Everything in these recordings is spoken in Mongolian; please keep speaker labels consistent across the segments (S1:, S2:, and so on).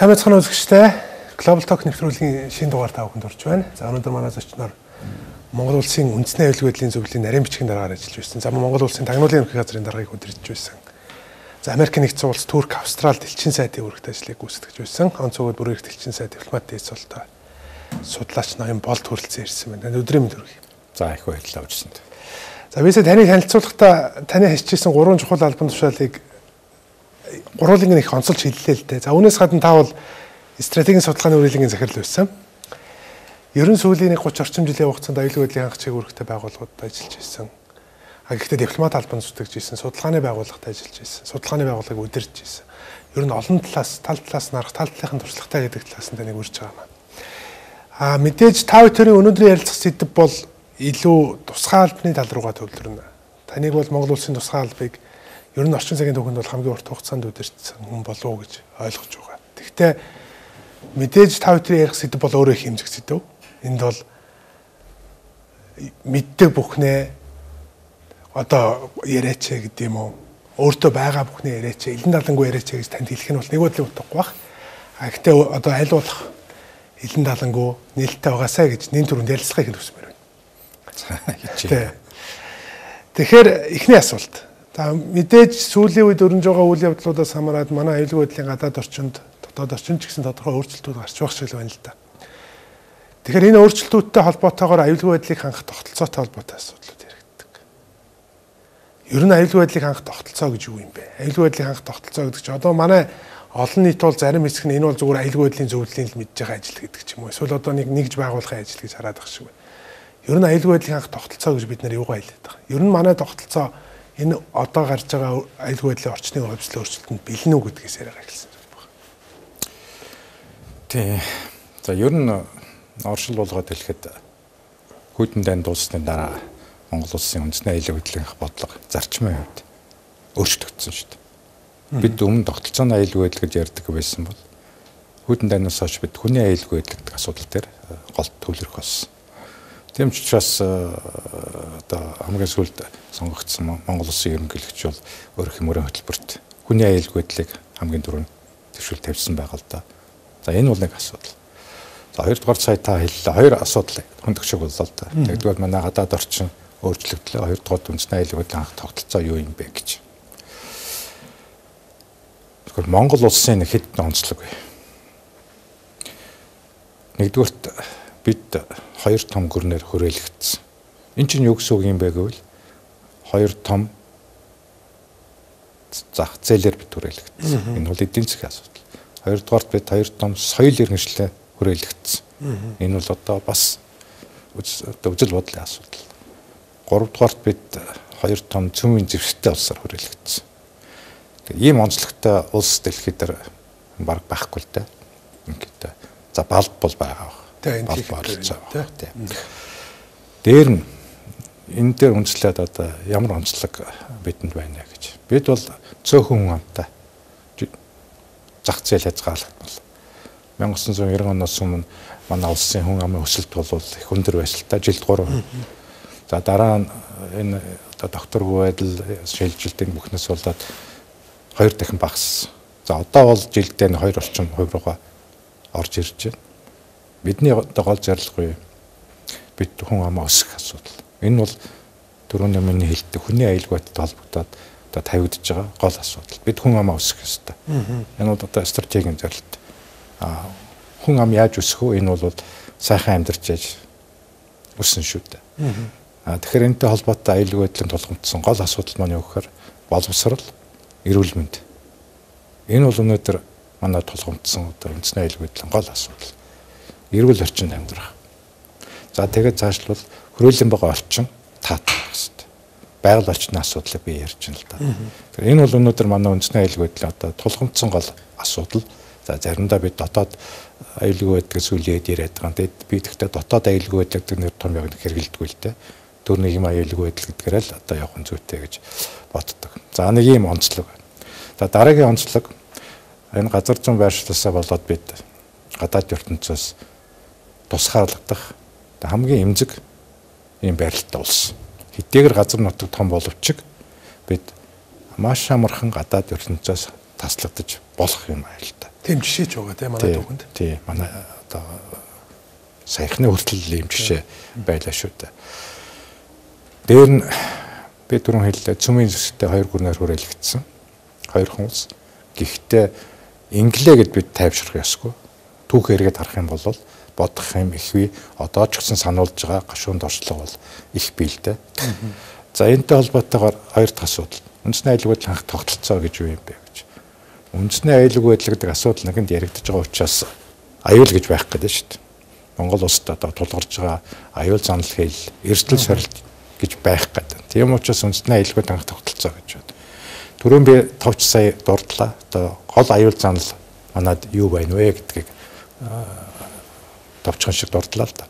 S1: Сайн мэцхан үзэгчтэй Global Talk нэвтрүүлгийн шинэ дугаар та бүхэнд хүрч байна. За өнөөдөр манай зочноор Монгол улсын үндэсний аюулгүй байдлын зөвлөлийн нарийн бичгийн дараагаар ажиллаж байсан. За Монгол улсын тагнуулын ерөнхий газрын даргаыг удирдах байсан. За Америк нэгдсэн улс, Турк, Австрал дэлхийн сайдын үүрэгт ажлыг гүйцэтгэж байсан. Онцгой бүр их дэлхийн сайд дипломат дээдсолтой судлаач ноён болд хүрэлцэн ирсэн байна. Өдрийн мэнд хүргэе.
S2: За их баярлалаа үржсэнд.
S1: За бисээ таныг танилцуулахдаа таны хичээсэн 3 чухал албан тушаалыг гурвуулын их онцолж хэллээ л дээ. За үүнээс гадна та бол стратегийн судалгааны үрэлгийн захирал байсан. Ерөн сүүлийн 30 орчим жилийн хугацаанд аюулгүй байдлын хангалттай үүрэгтэй байгууллагуудад ажиллаж байсан. Гэхдээ дипломат албанд зүтгэж байсан, судалгааны байгууллагад ажиллаж байсан, судалгааны байгууллагыг удирдах байсан. Ер нь олон талаас, тал талаас нарах, тал талынхын туршлагатай гэдэг талаас нь таныг урьж байгаа юм. Мэдээж та бүхэн өнөөдрийн ярилцах сэдэв бол илүү тусгай албаны тал руугаа төвлөрнө. Таныг бол Монгол улсын тусгай албыг ер нь орчин цагийн түүхэнд бол хамгийн урт хугацаанд удирдсан хүн болов уу гэж ойлгож байгаа. Гэхдээ мэдээж та бүхэн ярих сэдэв бол өөрөө их хэмжих сэдэв. Энд бол мэддэг бүхнээ одоо яриач гэдэг юм уу? Өөртөө байгаа бүхнээ яриач, элен далангүй яриач гэж танд хэлэх нь бол нэг бодлын утгагүй бах. Гэхдээ одоо аль болох элен далангүй нээлттэй байгаасаа гэж нэн түрүүнд ярилцахыг хүсмээр байна.
S2: За хичээ.
S1: Тэгэхээр эхний асуулт. За мэдээж сүүлийн үед өрнөж байгаа үйл явдлуудаас хамаарат манай аюулгүй байдлын гадаад орчинд, дотоод орчинд ч гэсэн тодорхой өөрчлөлтүүд гарч байгаа шиг байна л да. Тэгэхээр энэ өөрчлөлтүүдтэй холбоотойгоор аюулгүй байдлыг хангах тогтолцоотой холбоотой асуудлууд яригддаг. Ер нь аюулгүй байдлыг хангах тогтолцоо гэж юу юм бэ? Аюулгүй байдлыг хангах тогтолцоо гэдэг чинь одоо манай олон нийт бол зарим хэсэг нь энэ бол зүгээр аюулгүй байдлын зөвлөлийн л мэдж байгаа ажил гэдэг ч юм уу. Эсвэл одоо нэгж байгуулахын ажил гэж хараад байгаа шиг байна. Ер нь аюулгүй байдлыг хангах тогтолцоо гэж бид нар юугаа хэлээд байгаа. Ер нь манай тогтолцоо энэ одоо гарч байгаа аюулгүй байдлын орчны хувьслын өөрчлөлтөнд бэлэн үү гэдгээс яриага эхэлсэн байна.
S2: Тий. За ер нь оршил болгоод хэлэхэд хүйтэн дайн дуусны дараа Монгол улсын үндэсний аюулгүй байдлын бодлого зарчмын хувьд өөрчлөгдсөн шүү дээ. Бид өмнө тогтолцооны аюулгүй байдал гэж ярьдаг байсан бол хүйтэн дайнаас хойш бид хүний аюулгүй байдал гэдэг асуудал дээр гол төвлөрөх болсон. Тийм ч учраас одоо хамгийн сүүлд сонгогдсон Монгол улсын ерөнхийлөгч бол өөрөх мөрийн хөтөлбөрт хүний аюулгүй байдлыг хамгийн түрүүнд төвшил тавьсан байгаа л да. За энэ бол нэг асуудал. За хоёрдугаар сая та хэллээ. Хоёр асуудал хөндөгчөг боллоо л да. Нэгдүгээр манай гадаад орчин өөрчлөгдлөө, хоёрдугаар үндэсний аюулгүй байдлын хангах тогтолцоо юу юм бэ гэж. Тэгэхээр Монгол улсын хэдэн онцлог вэ? Нэгдүгээрт бид хоёр том гүрнээр хүрээлэгдсэн. Энэ чинь юу гэсэн үг юм бэ гэвэл хоёр том зах зээлээр бид хүрээлэгдсэн. Энэ бол эдийн засгийн асуудал. Хоёрдугаарт бид хоёр том соёл иргэншлээ хүрээлэгдсэн. Энэ бол одоо бас үзэл бодлын асуудал. Гуравдугаарт бид хоёр том цөмийн зэвсэгтэй улсаар хүрээлэгдсэн. Ийм онцлогтой улс дэлхийд дээр баг байхгүй л дээ. Ингээд за балд бол байгаа. Дээр нь энэ дээр үндэслээд одоо ямар онцлог бидэнд байна гэж. Бид бол цөөхөн хүн амтай зах зээл хязгаарлагдмал. 1990 оноос өмнө манай улсын хүн амын өсөлт бол их өндөр байсан л та жилд 3%. За дараа нь энэ одоо докторгүй байдал шилжилтийн бүхнээс болоод 2 дахин багассан. За одоо бол жилдээ 2 орчим хувь руугаа орж ирж байна. Бидний одоо гол зорилго юу? Бид хүн амаа өсгөх асуудал. Энэ бол түрүүний миний хэлдэг хүний аюулгүй байдалтай холбогдоод одоо тавигдж байгаа гол асуудал. Бид хүн амаа өсгөх ёстой. Энэ бол одоо стратегийн зорилт. Хүн ам яаж өсөх вэ? Энэ бол сайхан амьдарч яаж өснө шүү дээ. Тэгэхээр энэтэй холбоотой аюулгүй байдлын тулгамдсан гол асуудал маань юу гэхээр боловсрол, эрүүл мэнд. Энэ бол өнөөдөр манай тулгамдсан одоо үндэсний аюулгүй байдлын гол асуудал. Эрүүл орчинд амьдрах. За тэгээд цаашлбал хөрөөлөн байгаа орчин таатай байх хэрэгтэй. Байгаль орчны асуудлыг би ярьж байна л да. Тэгэхээр энэ бол өнөөдөр манай үндэсний аюулгүй байдлын одоо тулгамдсан гол асуудал. За заримдаа бид дотоод аюулгүй байдгийг сүлээд яриад байгаа. Тэгээд би тэгтээ дотоод аюулгүй байдал гэдэг нэр том яг хэрэгэлдэггүй л дээ. Төр нэг юм аюулгүй байдал гэдгээр л одоо явах нь зүйтэй гэж боддог. За нэг юм онцлог. За дараагийн онцлог энэ газар зүйн байршлаасаа болоод бид гадаад ертөнцөөс тусгаарлагдах хамгийн эмзэг ийм байралтай улс. Хэдийгээр газар нутаг том боловч бид маш амархан гадаад ертөнцөөс таслагдаж болох юм айл та.
S1: Тийм жишээ ч байгаа тийм манай түүхэнд.
S2: Тийм манай одоо саяхны хүртэл ийм жишээ байлаа шүү дээ. Дээр нь би түрүүн хэллээ цөмийн зүстэй 2 гүрнээр хүрээлэгдсэн. 2 хүмүүс. Гэхдээ инглээ гэд бид тайвшрах ёсгүй. Түүх эргээд харах юм бол бодох юм ихвээ одоо ч гэсэн сануулж байгаа гашуунд орчлого бол их биелдэ. За энэтэй холбоотойгоор 2 дахь асуудал. Үндэсний аюулгүй байдлын анх тогтолцоо гэж юу юм бэ гэж. Үндэсний аюулгүй байдал гэдэг асуудал нэгэнд яригдж байгаа учраас аюул гэж байх гэдэг шүү дээ. Монгол улсад одоо тулгарч байгаа аюул занал хэл, эрсдэл сорилт гэж байх гэдэг. Тийм учраас үндэсний аюулгүй байдлын анх тогтолцоо гэж байна. Түрүүн би 5 сая дурдлаа. Одоо гол аюул занал манад юу байна вэ гэдгийг товчхон шиг дурдлаа л да.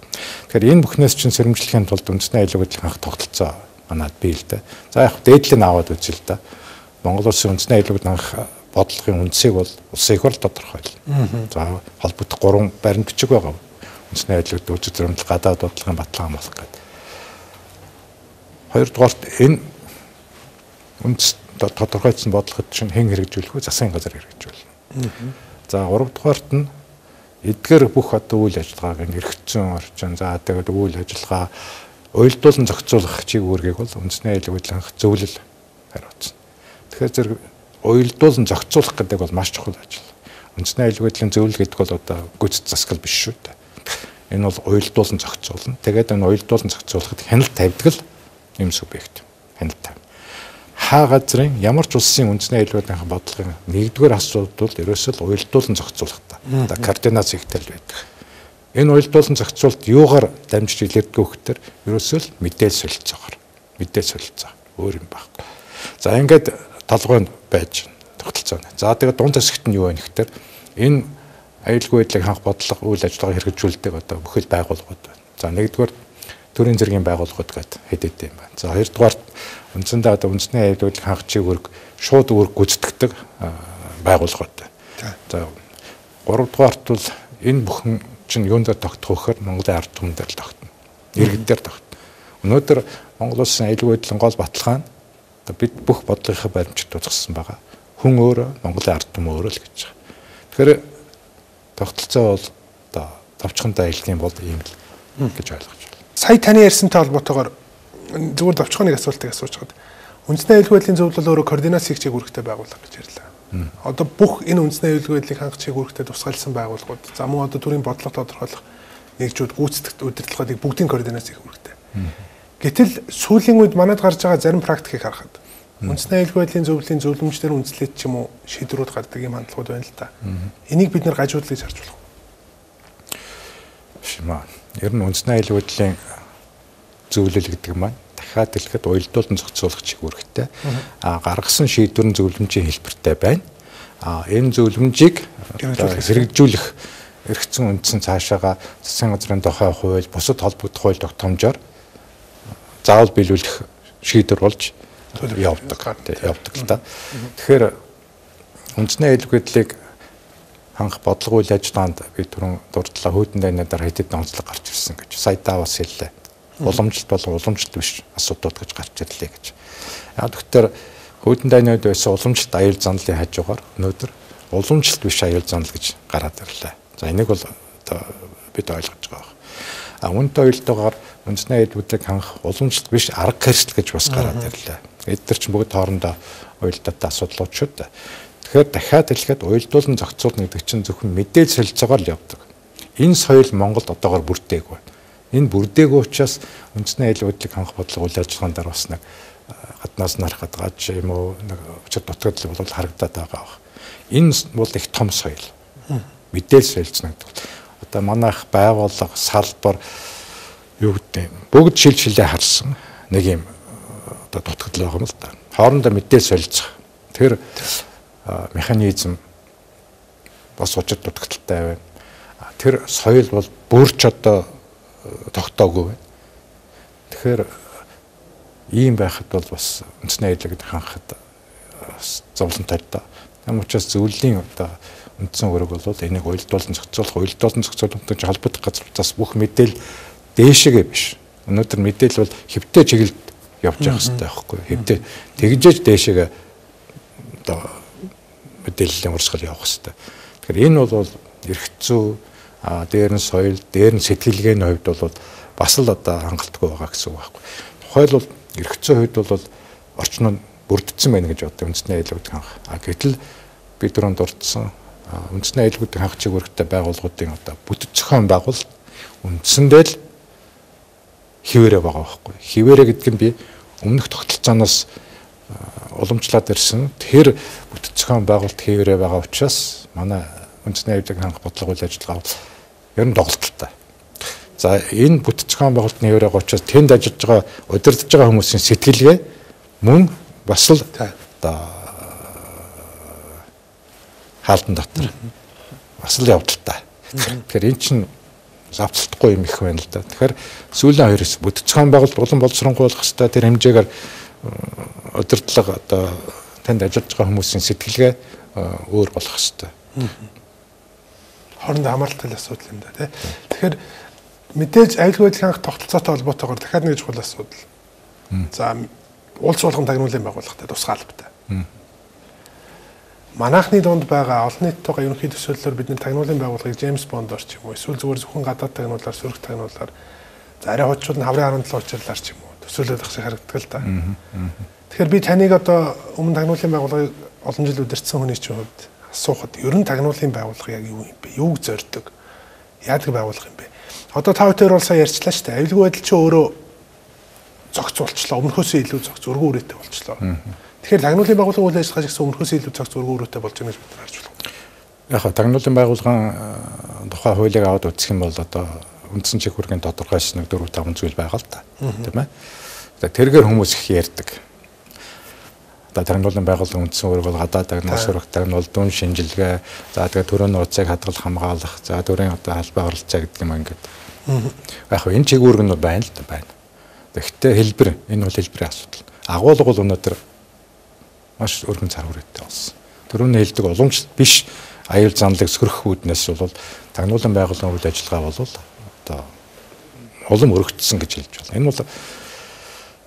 S2: Тэгэхээр энэ бүхнээс чинь сэрэмжлэхийн тулд үндэсний аюулгүй байдлын анх тогтолцоо манад бий л дээ. За яг дээдлийг аваад үзэл да. Монгол улсын үндэсний аюулгүй байдлын анх бодлогын үндсийг бол улсын их хурл тодорхойлно. За холбогдох 3 баримт бичиг байгаа. Үндэсний аюулгүй үзэл зөрчил гадаад бодлогын баталгаа хамгаалах гэдэг. Хоёрдугаарт энэ үндэс тодорхойлсон бодлогод чинь хэн хэрэгжүүлэх вэ? Засгийн газар хэрэгжүүлнэ. За гуравдугаарт нь эдгээр бүх одоо үйл ажиллагааг эргэцсэн орчин за тэгээд үйл ажиллагаа уялдуулан зохицуулах чиг үүргийг бол үндэсний аюулгүй байдлын анх зөвлөл хариуцсан. Тэгэхээр зэрэг уялдуулан зохицуулах гэдэг бол маш чухал ажил. Үндэсний аюулгүй байдлын зөвлөл гэдэг бол одоо гүйцэд засгал биш шүү дээ. Энэ бол уялдуулан зохицуулна. Тэгээд энэ уялдуулан зохицуулахад хяналт тавьдаг л юм субъект. Хяналт тавь. Хаа газрын ямар ч улсын үндэсний аюулгүй байдлын бодлогын нэгдүгээр асуудал бол ерөөсөө л уялдуулан зохицуулах та. Одоо координац ихтэл байдаг. Энэ уялдуулан зохицуулалт юугаар дамжиж илэрдэг вэ гэхээр ерөөсөө л мэдээлэл солилцоогоор. Мэдээлэл солилцоо өөр юм байхгүй. За ингээд толгойд байж тогтолцооно. За тэгээд дунд хэсэгт нь юу вэ гэхээр энэ аюулгүй байдлыг ханх бодлого үйл ажиллагаа хэрэгжүүлдэг одоо бүхэл байгууллагууд байна. За нэгдүгээр төрийн зэргийн байгууллагууд гэдэг хэд юм байна. За хоёрдугаар үндсэндээ одоо үндэсний аюулгүй байдлыг ханх чиглэлд шууд үүрэг гүйцэтгэдэг байгууллагууд байна. За гуравдугаарт бол энэ бүхэн чинь юунд тогтох вөхөр Монголын ард түмэн дээр л тогтно. Иргэд дээр тогтно. Өнөөдөр Монгол улсын аюулгүй байдлын гол баталгаа нь одоо бид бүх бодлогынхаа баримтчид тусгасан байгаа. Хүн өөрөө Монголын ард түмэн өөрөө л гэж байгаа. Тэгэхээр тогтолцоо бол одоо товчхонтой аялах юм бол ийм л гэж ойлгож байна.
S1: Сая таны ярьсантай холбоотойгоор зүгээр товчхон нэг асуултыг асууж хаад. Үндэсний аюулгүй байдлын зөвлөл өөрөө координац хийх чиглэлтэй байгууллага гэж ярьлаа. Одоо бүх энэ үндэсний аюулгүй байдлыг хангах чиглэлтэй тусгайлсан байгууллагууд за мөн одоо төрийн бодлого тодорхойлох нэгжүүд гүйцэтгэх удирдлагыг бүгдийн координац хийх үүрэгтэй. Гэтэл сүүлийн үед манад гарч байгаа зарим практикийг харахад үндэсний аюулгүй байдлын зөвлөлийн зөвлөмжлөр үндэслээд ч юм уу шийдвэрүүд гардаг юм хандлагууд байна л та. Энийг бид нэр гажуудлаж харж болох.
S2: Шимаа. Ер нь үндэсний аюулгүй байдлын зөвлөл гэдэг маань дахиад хэлэхэд уялдуулан зохицуулах чиг үүрэгтэй. Гаргасан шийдвэрийн зөвлөмжийн хэлбэртэй байна. Энэ зөвлөмжийг хэрэгжүүлэх эргэцэн үндсэн цаашаага засгийн газрын дохой хууль, бусад холбогдох хууль тогтоомжоор заавал биелүүлэх шийдвэр болж явдаг л да. Тэгэхээр үндэсний аюулгүй байдлыг хангах бодлого үйл ажиллагаанд би түрүүн дурдлаа хүйдэн дайнадаар хэдэн онцлог гарч ирсэн гэж. Сая бас хэллээ. Уламжлалт болон уламжлалт биш асуудлууд гэж гарч ирлээ гэж. Яг тэгэхээр хүйдэн дайнад байсан уламжлалт аюул заналын хажуугаар өнөөдөр уламжлалт биш аюул занал гэж гараад ирлээ. За энийг бол одоо бид ойлгож байгаа. Үүнтэй уялдаагаар үндэсний аюулгүй байдлыг хангах уламжлалт биш арга хэрэгсэл гэж бас гараад ирлээ. Эдгээр чинь бүгд хоорондоо уялдаатай асуудлууд шүү дээ. Тэгэхээр дахиад хэлэхэд уялдуулан зохицуулна гэдэг чинь зөвхөн мэдээлэл солилцоогоор л явдаг. Энэ соёл Монголд одоогоор бүрдээгүй. Энэ бүрдээгүй учраас үндэсний аюулгүй байдлыг хангах бодлого үйл ажиллагаанд бас нэг гаднаас нь харахад гаж юм уу нэг өчир дутагдал бол харагдаад байгаа. Энэ бол их том соёл. Мэдээлэл солилцно гэдэг. Одоо манайх байгууллага, салбар юу гэдэг бүгд шилжлээ харсан нэг юм одоо дутагдал байгаа юм л да. Хоорондоо мэдээлэл солилцох. Тэр механизм бас учир дутагдaltaй байна. Тэр соёл бол бүрч одоо тогтоогүй байна. Тэгэхээр ийм байхад бол бас үндэсний аюулгүй хангахад зовлонтой л да. Тэм учраас зөвлөлийн одоо үндсэн үүрэг бол энийг уялдуулан зохицуулалттай холбогдох газруудаас бүх мэдээлэл дээшээгээ биш. Өнөөдөр мэдээлэл бол хэвтэй чиглэлд явж явах хэрэгтэй байхгүй. Хэвтэй тэгжээж дээшээгээ одоо мэдээллийн урсгал явах хэрэгтэй. Тэгэхээр энэ бол эрх зүй, дээр нь соёл, дээр нь сэтгэлгээний хувьд бол бас л одоо хангалтгүй байгаа гэсэн үг байхгүй. Тухайлбал эрх зүйн хувьд бол орчин нь бүрдсэн байна гэж боддог үндэсний аюулгуудын ханх. Гэтэл бид түрүүнд дурдсан үндэсний аюулгуудын ханх чиглэлтэй байгууллагуудын одоо бүтэц зохион байгуулалт үндсэндээ л хിവэрэ байгаа байхгүй. Хിവэрэ гэдэг нь би өмнөх тогтолцооноос уламжлаад ирсэн. Тэр бүтэц зохион байгуулалт хിവэрэ байгаа учраас манай үндэсний аюулгуудын ханх бодлого үйл ажиллагаа ер нь доголдолтой. За энэ бүтэц зохион байгуулалтын хിവэрэ байгаа учраас тэнд ажиллаж байгаа удирдах байгаа хүмүүсийн сэтгэлгээ мөн бас л одоо хаалтан дотор бас л явдалтай. Тэгэхээр эн чинь завцалтгүй юм их байна л да. Тэгэхээр сүүлийн хоёроос бүтэц зохион байгуулалт улам боловсронгуй болох хэвээр тэр хэмжээгээр удирдлага одоо танд ажиллаж байгаа хүмүүсийн сэтгэлгээ өөр болох хэвээр.
S1: Хоорондоо хамааралтай асуудал юм да тий. Тэгэхээр мэдээж аюулгүй байдлын ханх тогтолцоотой холбоотойгоор дахиад нэг чухал асуудал. За улс болгон тагнуулын байгууллагатай тусгай албатай. Манайхны дунд байгаа олон нийттойгоо ерөнхий төсөөллөөр бидний тагнуулын байгууллагыг Джеймс Бондор ч юм уу эсвэл зүгээр зөвхөн гадаад тагнуулаар сөрөг тагнуулаар за арай хочууд нь хаврын 17 учирлаар ч юм уу төсөөлөд ах шиг харагддаг л да. Тэгэхээр би таныг одоо өмнө тагнуулын байгууллагыг олон жил удирдсан хүний чинь хувьд асуухад ер нь тагнуулын байгууллага яг юу юм бэ? Юуг зорддог? Яадаг байгууллага юм бэ? Одоо та бүхэн бол сая ярьчлаа шүү дээ. Аюулгүй байдал чинь өөрөө зогц болчлоо. Өмнөхөөсөө илүү зогц өргөн үрээтэй болчлоо. Тэгэхээр тагнуулын байгууллагын үйл ажиллагаа гэсэн өмнөхөөсөө илүү зогц өргөн үрээтэй болж байгаа гэж бид харж байна.
S2: Яг хаа тагнуулын байгууллагын тухай хуулийг аваад үзэх юм бол одоо үндсэн чиг хүргийн тодорхойлсон 4-5 зүйл байгаа л та. Тийм ээ. Тэргээр хүмүүс их ярьдаг. Одоо тагнуулын байгууллагын үндсэн үүрэг бол гадаад тагнуул, сөрөг тагнуул, дүн шинжилгээ, за тэгээ төрийн нууцыг хадгалах, хамгаалах, за төрийн одоо албан оролцоо гэдэг юм ингээд. Яг хаа энэ чиг үүрэг нь байна л да байна. Тэгэхдээ хэлбэр энэ бол хэлбэрийн асуудал. Агуулга бол өнөөдөр маш өргөн цар хүрээтэй болсон. Төрөний хэлдэг уламж биш аюул занлыг сөрөх үүднээс бол тагнуулан байгууллагын үйл ажиллагаа бол одоо улам өргөцсөн гэж хэлж байна. Энэ бол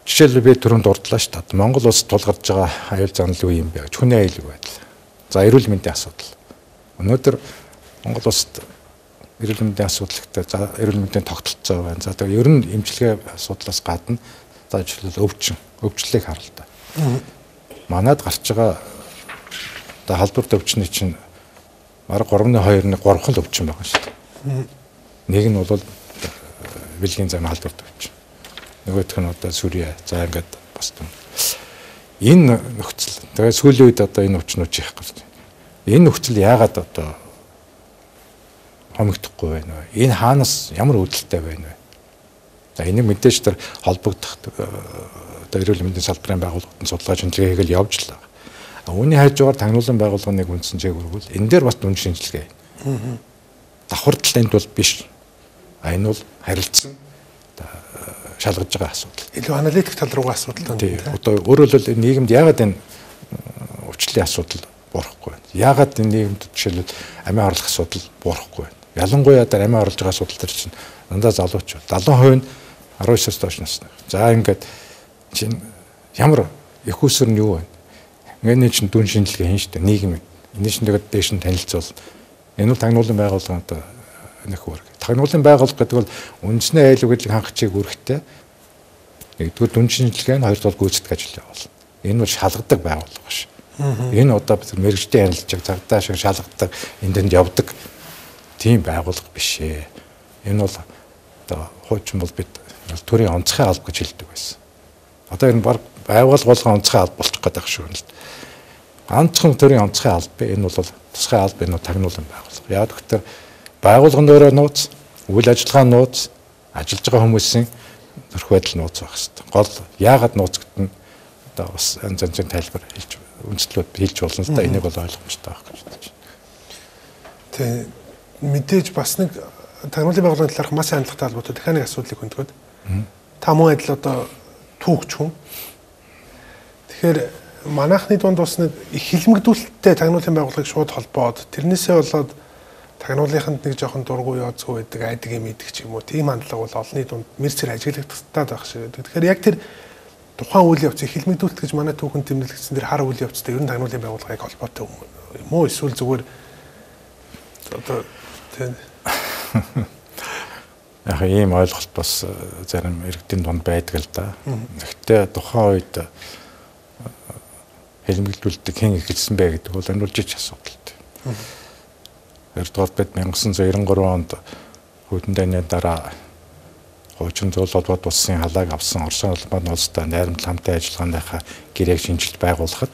S2: жишээлбэл би түрүүнд дурдлаа шүү дээ. Монгол улс тулгарч байгаа аюул занл юу юм бэ гэж хүний аюулгүй байдал. За эрүүл мэндийн асуудал. Өнөөдөр Монгол улсад эрүүл мэндийн асуудалтай за эрүүл мэндийн тогтолцоо байна. За тэгээ ер нь эмчилгээ асуудлаас гадна за жишээлбэл өвчлөлийг харалтай. Манайд гарч байгаа одоо халдвар өвчний чинь бараг 3.2-ны 3 хол өвчин байгаа шүү дээ. Нэг нь бол бэлгийн зам халдвар өвчин. Нөгөөх нь одоо сүрье. За ингээд босдсон. Энэ нөхцөл. Тэгээ сүүлийн үед одоо энэ өвчнүүд их гарч байна. Энэ нөхцөл яагаад одоо хомигдохгүй байна вэ? Энэ хаанаас ямар үүдэлтэй байна вэ? За энийг мэдээж тэр холбогдох одоо эрүүл мэндийн салбарын байгууллагын судалгаа шинжилгээ хийгээл явж л байгаа. Үүний хажуугаар тагнуулан байгууллагын нэг үндсэн чиг үргүүл энэ дээр бас дүн шинжилгээ. Давхардал энд бол биш. Энэ бол харилцсан шалгаж байгаа асуудал.
S1: Илүү аналитик тал руугаа асуудал байна.
S2: Тийм. Одоо өөрөөр хэлбэл нийгэмд яагаад энэ өвчлөлийн асуудал буурахгүй байна? Яагаад энэ нийгэмд жишээлбэл амиа орлох асуудал буурахгүй байна? Ялангуяа дээр амиа орлож байгаа асуудал төр чинь дандаа залууч. 70% нь 19-с доош насны. За ингээд чинь ямар их усэр нь юу вэ? Ингээд чинь дүн шинжилгээ хийн штэ нийгэм. Энэ чинь тэгээд дээш нь танилцуул. Энэ бол тагнуулан байгууллагын одоо нэг үүрэг. Тагнуулан байгууллага гэдэг бол үндэсний аюулгүй байдлыг хангах чиг үүрэгтэй. Нэгдүгээр дүн шинжилгээ нь хоёрдугаар гүйцэтгэх ажил явуулна. Энэ бол шалгадаг байгууллага биш. Энэ одоо мэрэгжлийн ярилцлага цагдаа шиг шалгадаг энд явдаг тийм байгууллага биш ээ. Энэ бол одоо хуучин бол бид төрийн онцгой алба гэж хэлдэг байсан. Одоо энэ баг байгууллага болгон онцгой алба болчих гээд байгаа шүү дээ. Ганцхан төрийн онцгой алба энэ бол тусгай алба энэ тагнуулан байгууллага. Яг гэвэл байгууллагын өөрөө нууц, үйл ажиллагаа нууц, ажиллаж байгаа хүмүүсийн төрх байдал нууц байх хэрэгтэй. Гол яагаад нууц гэдэг нь одоо бас янз янзын тайлбар хэлж үндэслүүд хэлж болно л да. Энийг бол ойлгомжтой байх гэж бодож байна.
S1: Тэг мэдээж бас нэг тагнуулын байгууллагын талаарх маш хандлагатай холбоотой дахиад нэг асуудлыг хөндгөөд та мөн адил одоо түүхч хүн. Тэгэхээр манайхны дунд бас нэг их хилмигдүүлэлттэй тагнуулын байгууллагыг шууд холбоод тэрнээсээ болоод тагнуулынханд нэг жоохон дургүй яоцгүй байдаг айдаг юм идэг ч юм уу. Тийм хандлага бол олонний дунд мэрцэр ажиглагддаг байх шиг байдаг. Тэгэхээр яг тэр тухайн үйл явцыг хилмигдүүлэлт гэж манай түүхэн тэмдэглэсэн тэр хар үйл явцтай ер нь тагнуулын байгууллагыг холбоотой юм уу? Эсвэл зүгээр одоо тийм
S2: яг ийм ойлголт бас зарим иргэдийн дунд байдаг л да. Гэхдээ тухайн үед хэлмэглүүлдэг хэн эхэлсэн бэ гэдэг бол амжилж асуудал. Хоёрдугаар бид 1993 онд Хүйтэн дайны дараа хуучин зөвлөлт холбоот улсын халааг авсан Орос улбаны улстай найрамдал хамтын ажиллагааныхаа гэрээг шинжилж байгуулахад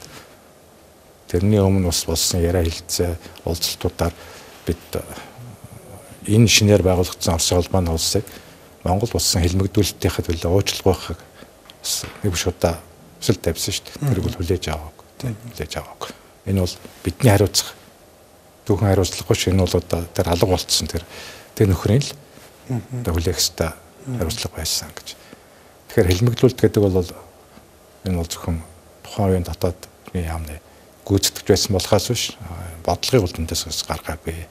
S2: тэрний өмнө бас болсон яриа хэлцээ уулзалтуудаар бид энэ шинээр байгуулагдсан Орос улбаны улсыг Монгол улсын хэлмэгдүүлэлтийнхээ төлөө уучлах байхыг нэг биш удаа өсөлт тавьсан шүү дээ. Тэрийг бол хүлээж аваагүй. Хүлээж аваагүй. Энэ бол бидний хариуцах түүхэн хариуцлагагүй ш. Энэ бол одоо тэр алга болцсон тэр нөхрийн л одоо хүлээх ёстой хариуцлага байсан гэж. Тэгэхээр хэлмэгдүүлэлт гэдэг бол энэ бол зөвхөн тухайн үеийн дотоодны яамны гүйцэтгэж байсан болохоос биш бодлогын үлдэндээс гаргаагүй.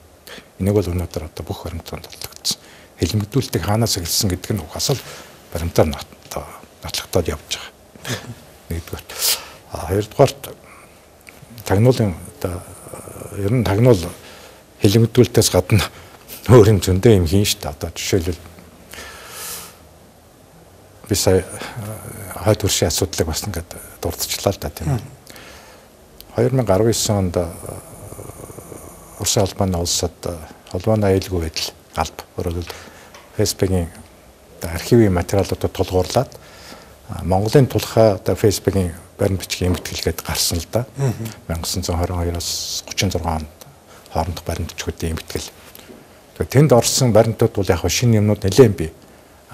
S2: Энийг бол өнөөдөр одоо бүх баримтанд батлагдсан. Хэлмэгдүүлэлтийг хаанаас эхэлсэн гэдэг нь угсаал баримтаар нотлогдоод явж байгаа. Нэгдүгээр. Хоёрдугаарт тагнуулын одоо ер нь тагнуул хэлмэгдүүлэлтээс гадна өөр юм зөндөө юм хийн шүү дээ. Одоо жишээлбэл би сая хойд хөршийн асуудлыг бас ингээд дурдчихлаа л да тийм. 2019 онд Орос улбаны улсад холбооны аюулгүй байдал алба өөрөөр Facebook-ийн архивын материалуудад тулгуурлаад Монголын тулхай одоо Facebook-ийн баримт бичгийн эмгэтгэлгээд гарсан л да. 1922-оос 36 онд хоорондох баримт бичгүүдийн эмгэтгэл. Тэгээд тэнд орсон баримтууд бол яг шинэ юмнууд нэлээд бий.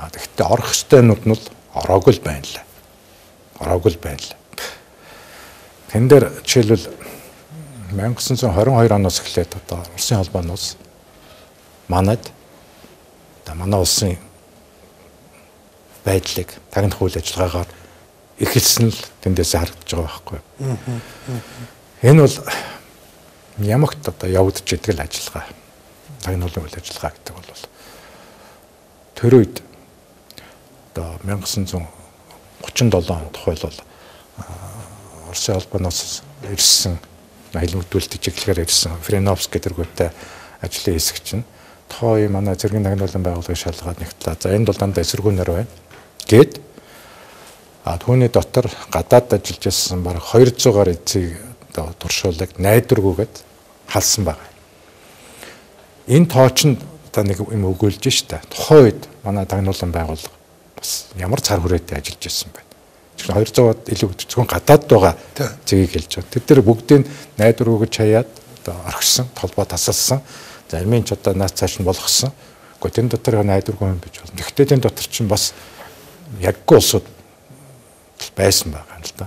S2: Тэгэхдээ орох ёстой юмнууд нь ороогүй л байна лээ. Ороогүй л байна лээ. Тэн дээр жишээлбэл 1922 оноос эхлээд одоо Оросын холбооны улс манайд манай улсын байдлыг тагнах үйл ажиллагаагаар эхэлсэн л тэндээс харагдаж байгаа байхгүй. Энэ бол ямагт одоо явагдаж идэг л ажиллагаа. Тагнуулын үйл ажиллагаа гэдэг бол тэр үед одоо 1937 онд тухайлбал Оросын холбооноос ирсэн хэлмэгдүүлэлт чиглэлээр ирсэн Френовский тэргүүтээ ажлын хэсэг чинь тухайн манай цэргийн тагнуулын байгууллагын шалгаад нэгтлээ. За энэ бол дандаа эсэргүүнээр байна. Гэт түүний дотор гадаад ажиллаж байсан бараг 200-аар эцэг туршуулаг найдваргүйгээд халсан байгаа. Энэ тооч нь одоо нэг юм өгүүлж штэ. Тухайн үед манай тагнуулан байгууллага бас ямар цар хүрээтэй ажиллаж байсан бэ? 200-аад илүү зөвхөн гадаад байгаа зэгийг хэлж байгаа. Тэд нар бүгдийг найдваргүйгэж хаяад одоо орхисон, толгой тасалсан. Зарим нь ч одоо наац цааш нь болгосон. Гэхдээ тэн дотор найдваргүй юм биш болно. Гэхдээ тэн дотор чинь бас яггүй улсууд байсан байгаа юм л да.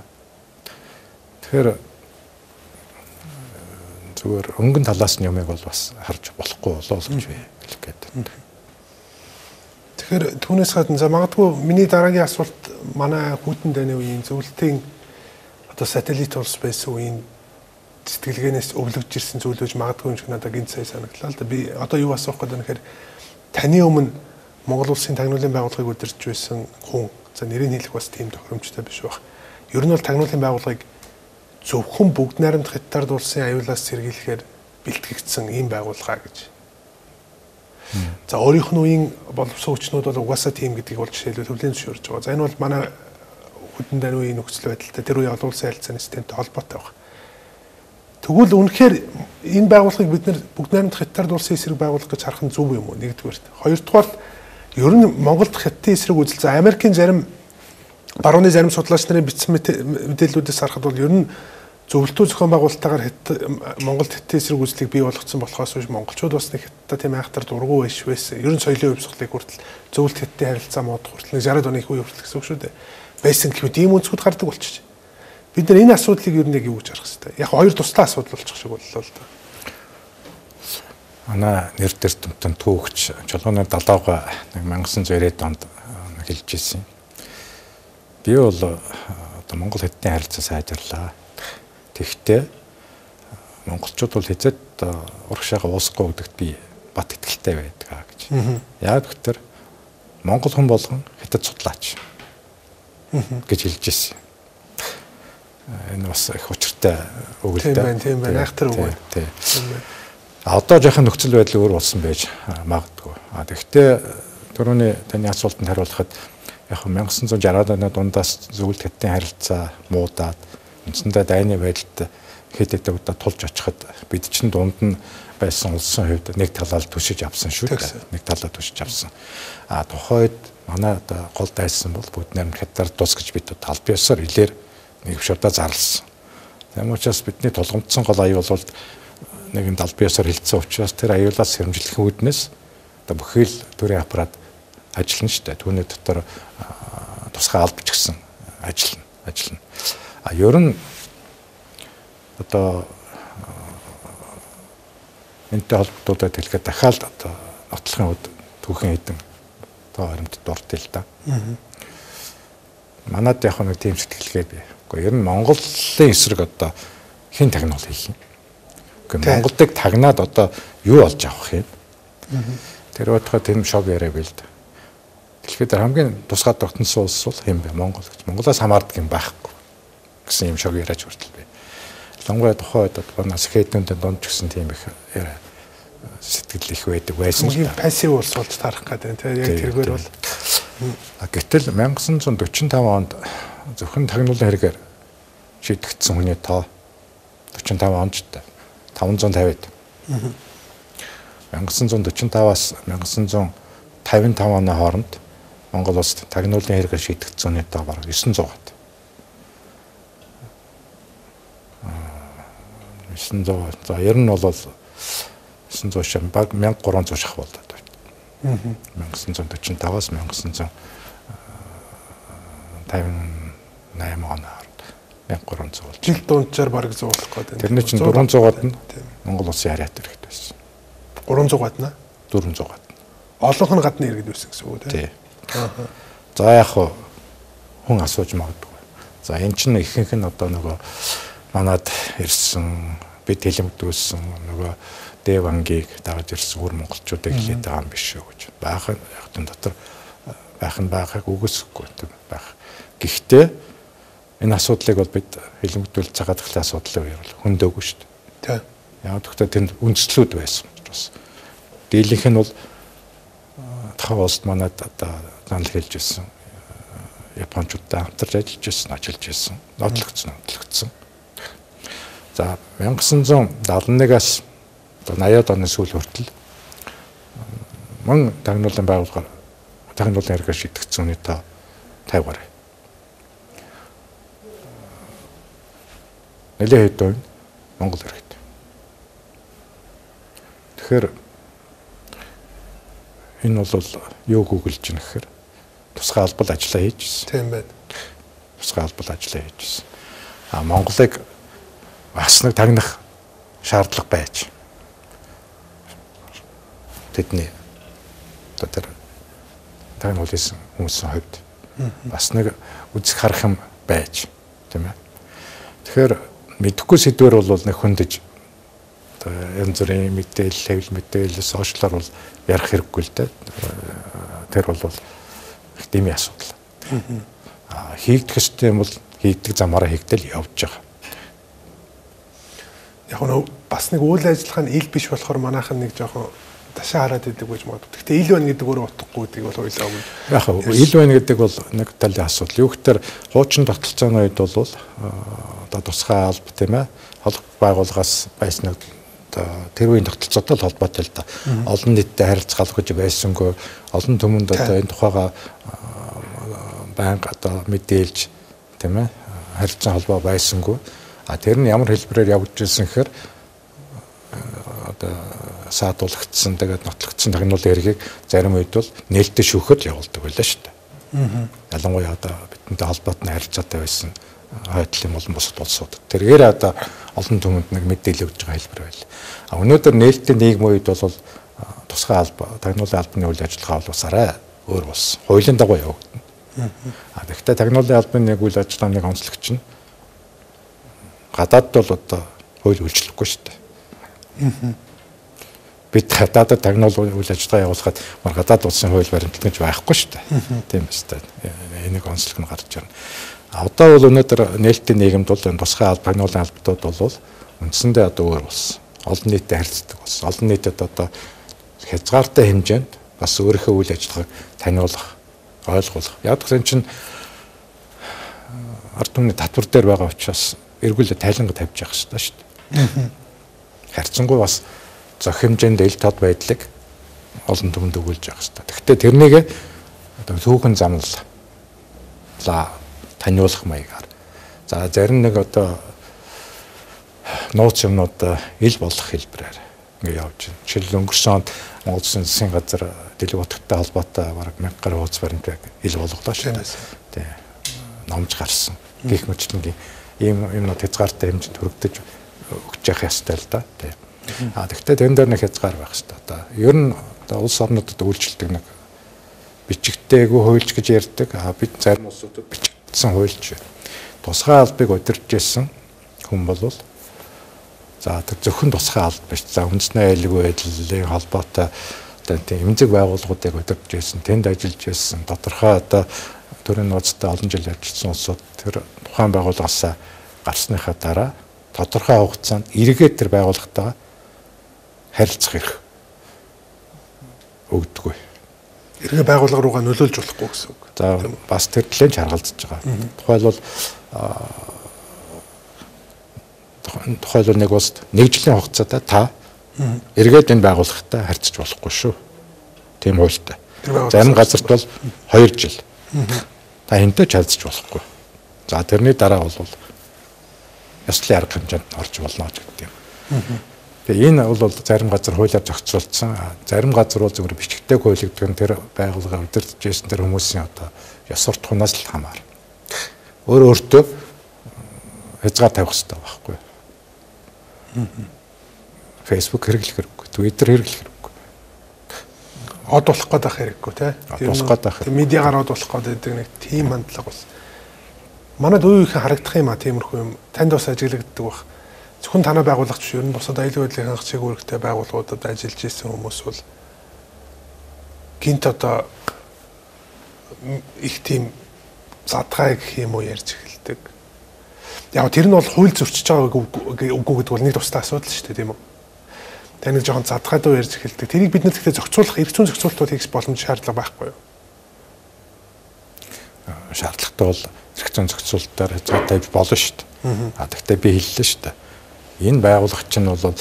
S2: Тэгэхээр зүгээр өнгөн талаас нь юмыг бол бас харж болохгүй болоо л гэж хэлэх гээд.
S1: Тэгэхээр түүнээс гадна за магадгүй миний дараагийн асуулт манай Хүйтэн дайны үеийн зөвлөлтийн одоо сателлит улс байсан үеийн сэтгэлгээнээс өвлөгж ирсэн зүйлж магадгүй юм шиг надад гинт сая санагдлаа л да. Би одоо юу асуух гэдэг нь тэгэхээр таны өмнө Монгол улсын тагнуулын байгууллагыг удирдах байсан хүн за нэрийг хэлэх бас тийм тохиромжтой биш байх. Ер нь бол тагнуулын байгууллагыг зөвхөн бүгд найрамдах хятад улсын аюулаас сэргийлэхээр бэлтгэгдсэн ийм байгууллага гэж. За өөрийнх нь үеийн боловсон хүчнүүд бол угаасаа тийм гэдгийг бол жишээлбэл хөвлийн зөвшөөрж байгаа. За энэ бол манай Хүйтэн дайны үеийн нөхцөл байдалтай тэр үеийн олон улсын харилцааны системтэй холбоотой байна. Тэгвэл үнэхээр энэ байгууллагыг бид нэр бүгд найрамдах хятад улсын эсрэг байгуулах гэж харах нь зөв юм уу? Нэгдүгээрт. Хоёрдугаар ер нь Монголд хятадын эсрэг үзэл за Америкийн зарим барууны зарим судлаач нарын бичсэн мэдээллүүдээс харахад бол ер нь зөвлөлтөө зохион байгуулалтаагаар Монголд хятадын эсрэг үзлийг бий болгоцсон болохоос биш монголчууд бас нэг хятадтай тийм айхтар дургу биш байсан. Ер нь соёлын хувьсгалыг хүртэл зөвлөлт хятадын харилцаа мод хүртэл 60-аад оны их үе хүртэл гэсэн үг шүү дээ. Байсан гэхэд ийм үнцгүүд гардаг болчих. Бид нар энэ асуудлыг ер нь яг юу гэж харах хэрэгтэй. Яг хоёр туслаа асуудал болчих шиг боллоо л да.
S2: Манай нэр дээр томтон түүхч чулууны далайга 1990-ад онд хэлж ирсэн. Би бол одоо Монгол хятадын харилцаа сайжрлаа. Тэгэхдээ монголчууд бол хэзээд урагшаага уусахгүй гэдэгт би бат итгэлтэй байдаг гэж. Яг гэвтэр монгол хүн болгон хятад судлаач гэж хэлж ирсэн. Энэ бас их учиртай үг л дээ.
S1: Тийм байна. Айхтар үг.
S2: Одоо жоохон нөхцөл байдал өөр болсон байж магадгүй. Тэгэхдээ түрүүний таны асуултанд хариулахад яг 1960-аад оны дундаас зөвлөлт хятадын харилцаа муудаад үндсэндээ дайны байдалд хэд хэдэн удаа тулж очиход бид чинь дунд нь байсан улсын хувьд нэг талаар түшиж авсан шүү дээ. Нэг талаар түшиж авсан. Тухайд манай одоо гол дайсан бол бүгд найрамд хятадаар тус гэж бид албан ёсоор илээр нэг шуудаа зарласан. Тийм учраас бидний тулгамдсан гол аюул бол нэгэн албан ёсоор хилцсэн учраас тэр аюулаас сэрэмжлэх үүднээс одоо бүхий л төрийн аппарат ажиллана шүү дээ. Түүний дотор тусгай албач гэсэн ажиллана. Ер нь одоо энэтэй холбогдуулаад хэлэхэд дахиад одоо нотлохын үед түүхэн хэдэн одоо харимт дуртай л да. Манайд яг нэг тийм сэтгэлгээ бий. Гэхдээ ер нь Монголын эсрэг одоо хэн тагнуул хийх юм. Гэхдээ Монголыг тагнаад одоо юу олж авах юм. Тэр бодоход тийм шог яриа бил дээ. Тэгэхэд хамгийн тусгай тогтносон улс бол хэм бэ? Монгол гэж. Монголоос хамаардаг юм байхгүй гэсэн юм шог яриач хүртэл бай. Лангуй тухайд банаас хэднүүдэд донд ч гэсэн тийм их сэтгэл их байдаг байсан л да.
S1: Пассив улс болж тарах гэдэг тийм яг тэргээр бол
S2: гэтэл 1945 онд зөвхөн тагнуулын хэрэгээр шийдэгдсэн хүний тоо 45 онд ч 550-д 1945-аас 1955 оны хооронд Монгол улсад тагнуулын хэрэгээр шийдэгдсэн хүний тоо бараг 900-аад. 900. За ер нь бол 900 шам баг 1300 шах болоод байна. 1945-аас 1958 оны хооронд 1300 болж.
S1: Жил дунджаар бараг зуулах гэдэг.
S2: Тэрний чинь 400-аад нь Монгол улсын харьяат иргэд байсан.
S1: 300-аад нь
S2: 400-аад.
S1: Олонх нь гадны иргэд байсан гэсэн үг тийм.
S2: За яг хүн асууж магадгүй. За эн чинь ихэнх нь одоо нөгөө манад ирсэн бид хэлэмдүүлсэн нөгөө Дэв ангийг дагаж ирсэн өөр монголчуудыг хэлээд байгаа юм биш үү гэж. Баахан ягтын дотор байхыг үгүйсэхгүй байх. Гэхдээ энэ асуудлыг бол бид хэлэмдүүл цагаат ахлын асуудлын үеэр бол хөндөөгүй шүү дээ. Тийм. Яг гэхдээ тэнд үндслүүд байсан учраас. Дийлэнх нь бол тохиол улсад манад одоо занал хэлж ирсэн. Япончуудтай хамтарч ажиллаж ирсэн, нотлогдсон. За 1971-аас 80-аад оны сүүл хүртэл мөн тагнуулын байгууллагаар тагнуулын хэрэгээр шийдэгдсэн үний тоо 50 гаруй. Нэлээд хэд нь Монгол иргэд. Тэгэхээр энэ бол юу гүгэлж байна гэхээр тусгай албал ажиллаа хийжсэн.
S1: Тийм байна.
S2: Тусгай албал ажиллаа хийжсэн. Монголыг бас нэг тагнах шаардлага байж. Тэдний тэр тагнуулсан хүмүүсийн хувьд бас нэг үзэх харах юм байж, тийм ээ. Тэгэхээр мэдэхгүй сэдвэр бол нэг хөндөж янз бүрийн мэдээлэл, хэвлэл мэдээлэл, сошиалар бол ярих хэрэггүй л дээ. Тэр бол их дэмий асуудал. Хийгдэх ёстой юм бол хийгдэх замаараа хийгдэл явж байгаа.
S1: Яг нь бас нэг үйл ажиллагаа нь ил биш болохоор манайхан нэг жоохон ташаа хараад идэг гэж магадгүй. Гэхдээ ил байна гэдэг өөрөө утгагүй гэдгийг бол ойлоо өгнө.
S2: Яг ил байна гэдэг бол нэг талын асуудал. Юу гэхээр хуучин тогтолцооны үед бол одоо тусгай алба тийм ээ холбоо байгууллагаас байсан нэг тэр үеийн тогтолцоотой л холбоотой л да. Олон нийтэд харилцах гэж байсангүй олон түмэнд одоо энэ тухайга банк одоо мэдээлж тийм ээ харилцан холбоо байсангүй. Тэр нь ямар хэлбэрээр явж ирсэн гэхээр одоо саадуулагдсан тэгээд нотлогдсон тагнуулын хэргийг зарим үед бол нээлттэй шүүхэд явуулдаг байлаа шүү дээ. Ялангуяа одоо бидэнтэй холбоотой харилцаатай байсан хойдлын болон бусад улсууд. Тэргээр одоо олон түмэнд нэг мэдээлэл өгж байгаа хэлбэр байл. Өнөөдөр нээлттэй нийгмийн үед бол тусгай алба, тагнуулын албаны үйл ажиллагаа бол бас арай өөр болсон. Хуулийн дагуу явагдана. Тэгэхдээ тагнуулын албаны нэг үйл ажиллагааны онцлогч нь гадаад бол одоо хууль үйлчлэхгүй шүү дээ. Бид гадаадд тагнуулын үйл ажиллагаа явуулахад мар гадаад улсын хууль баримтлал гэж байхгүй шүү дээ. Тийм ээ. Энийг онцлог нь гарч ирнэ. Одоо бол өнөөдөр нээлттэй нийгэмд бол энэ тусгай тагнуулын албатууд бол үндсэндээ одоо өөр болсон. олон нийтэд харилцдаг болсон. Олон нийтэд одоо хязгаартай хэмжээнд бас өөрийнхөө үйл ажиллагааг таниулах, ойлгуулах. Яг гэсэн чинь ард түмний татвар дээр байгаа учраас эргүүлээ тайланга тавьж явах хэрэгтэй шүү дээ. Харьцангуй бас зөх хэмжээнд ил тод байдлыг олон түмэнд өгүүлж явах хэрэгтэй. Гэхдээ тэрнийг одоо түүхэн замлаа таниулах маягаар. За зарим нэг одоо нууц юмнууд ил болох хэлбэрээр ингэ явж байна. Жишээл өнгөрсөн онд Монгол Улсын засгийн газар дэлгэц утгатай холбоотой бараг 1000 гаруй хуудас баримтыг ил болголоо шүү дээ. Тий. Номж гарсан. Гэх мэтлэнгийн ийм юмнууд хязгаартай хэмжээнд хүрэгдэж өгч явах ёстой л да. Тий. Тэгэхдээ тэн дээр нэг хязгаар байх ёстой. Одоо ер нь улс орнуудад үйлчлдэг нэг бичигдээгүй хуульч гэж ярьдаг. Бид зарим улсуудад бичигдсэн хуульч тусгай албыг удирдах гэсэн хүн болвол за тэр зөвхөн тусгай алба биш. За үндэсний аюулгүй байдлын холбоотой одоо тийм эмзэг байгууллагуудыг удирдах гэсэн, тэнд ажиллаж байсан, тодорхой одоо төрийн нууцтай олон жил ажилласан улсууд тэр тухайн байгууллагаас гарсныхаа дараа тодорхой хугацаанд эргээд тэр байгууллагатайгаа харилцах эрх өгдөггүй.
S1: Эргээ байгууллага руугаа нөлөөлж болохгүй гэсэн үг.
S2: За бас тэр төлөнд харгалзаж байгаа. Тухайлбал нэг улсад нэг жилийн хугацаатай та эргээд энэ байгууллагатай харьцаж болохгүй шүү. Тийм хуультай. Зарим газарт бол 2 жил. Та энэтэй харьцаж болохгүй. За тэрний дараа бол ёслолын арга хэмжээнд орж болно гэдэг юм. Тэгээ энэ бол зарим газар хуулиар зохицуулсан. Зарим газар бол зөвхөн бичгтэй хуулигддаг нь тэр байгууллага удирдах гэсэн тэр хүмүүсийн одоо ёс суртахуунаас л хамаарна. Өөртөө хязгаар тавих хэрэгтэй байхгүй. Facebook хэрэглэх хэрэггүй, Twitter хэрэглэх хэрэггүй.
S1: Од болох гээд байх хэрэггүй тий.
S2: Болох гээд байх.
S1: Медиагаар од болох гээд байдаг нэг тийм хандлага бас. Манайд үеийнхэн харагдах юм а тиймэрхүү юм. Танд бас ажиглагддаг бах. Зөвхөн танай байгууллагч биш, ер нь бусад аюулгүй байдлын хангах чиглэлтэй байгууллагуудад ажиллаж исэн хүмүүс бол гинт одоо их тийм задгай гэх юм уу ярьж эхэлдэг. Яг тэр нь бол хууль зөрчиж байгааг үгүй гэдэг бол нэг тустай асуудал шүү дээ, тийм үү? Тэр нэг жоохон задгай дуу ярьж эхэлдэг. Тэрийг бид нар гэхдээ зохицуулах, эрх зүйн зохицуултууд хийх боломж шаардлага байхгүй юу?
S2: Шаардлагатай бол эрх зүйн зохицуулалтаар хязгаар тавьж болно шүү дээ. Гэхдээ би хэллээ шүү дээ. Энэ байгууллага чинь бол